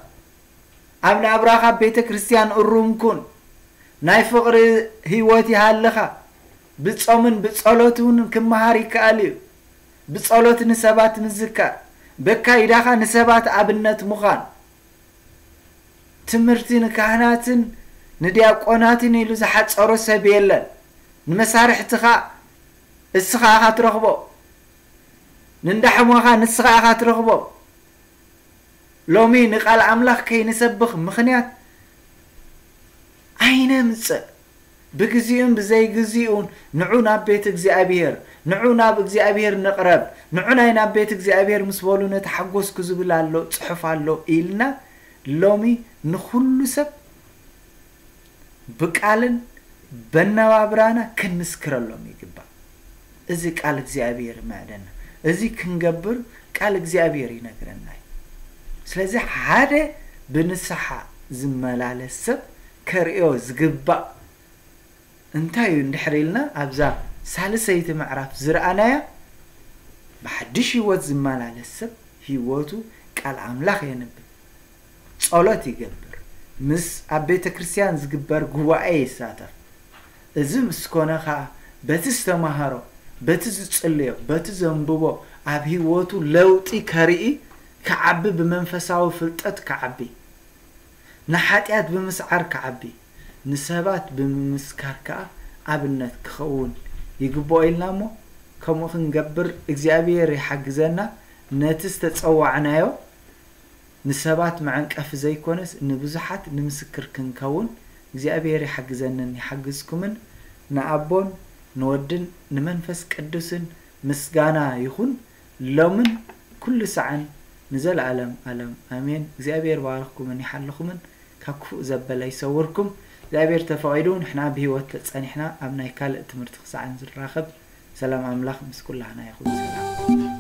ኣብ ናብራኻ ቤተ ክርስቲያን እሩም ኩን። ናይ ፍቕሪ ህይወት ይሃልኻ። ብጾምን ብጸሎት እውን ክመሃር ይከኣል እዩ። ብጸሎት ንሰባት ምዝካር፣ በካይዳኻ ንሰባት ኣብነት ምዃን። ትምህርቲ ንካህናትን ንዲያቆናትን ኢሉ ዝሓጸሮ ሰብ የለን። ንመሳርሕትኻ እስኻ ኢኻ ትረኽቦ። ንእንዳ ሕሞኻ ንስኻ ኢኻ ትረኽቦ። ሎሚ ንቃል ኣምላኽ ከይንሰብኽ ምኽንያት ኣይነምጽእ። ብግዚኡን ብዘይግዚኡን ንዑ ናብ ቤት እግዚኣብሔር፣ ንዑ ናብ እግዚኣብሔር ንቕረብ፣ ንዑ ናይ ናብ ቤት እግዚኣብሔር ምስ በሉ ነቲ ሓጎስኩ ዝብል ኣሎ፣ ጽሑፍ ኣሎ ኢልና ሎሚ ንኹሉ ሰብ ብቃልን በነባብራና ክንምስክረሎም ይግባእ። እዚ ቃል እግዚኣብሔር ይምዕደና። እዚ ክንገብር ቃል እግዚኣብሔር ይነግረና እዩ። ስለዚ ሓደ ብንስሓ ዝመላለስ ሰብ ከርእዮ ዝግባእ እንታይ እዩ እንድሕር ኢልና፣ ኣብዛ ሳልሰይቲ ምዕራፍ ዝረኣናያ፣ ብሓድሽ ህይወት ዝመላለስ ሰብ ህይወቱ ቃል ኣምላኽ የንብብ፣ ጸሎት ይገብር፣ ምስ ኣብ ቤተ ክርስቲያን ዝግበር ጉባኤ ይሳተፍ። እዚ ምስ ኮነ ኸኣ በቲ ዝተማሃሮ፣ በቲ ዝጽልዮ፣ በቲ ዘንብቦ ኣብ ህይወቱ ለውጢ ከርኢ፣ ክዓቢ፣ ብመንፈሳዊ ፍልጠት ክዓቢ፣ ንሓጢኣት ብምስዓር ክዓቢ፣ ንሰባት ብምምስካር ከኣ ኣብነት ክኸውን ይግብኦ ኢልና እሞ፣ ከምኡ ክንገብር እግዚኣብሔር ይሓግዘና። ነቲ ዝተጸዋዕናዮ ንሰባት መዐንቀፊ ዘይኮነስ ንብዙሓት ንምስክር ክንከውን እግዚኣብሔር ይሓግዘንን ይሓግዝኩምን። ንኣቦን ንወድን ንመንፈስ ቅዱስን ምስጋና ይኹን ሎምን ኩሉ ሳዕን ንዘለኣለም ኣለም ኣሜን። እግዚኣብሔር ባርኽኩምን ይሓልኹምን፣ ካብ ክፉእ ዘበለ ይሰውርኩም። እግዚኣብሔር ተፈቒዱ ንሕና ብህይወት ተጸኒሕና ኣብ ናይ ካልእ ትምህርቲ ክሳዕ ንዝራኸብ ሰላም ኣምላኽ ምስ ኩላህና ይኹን። ሰላም።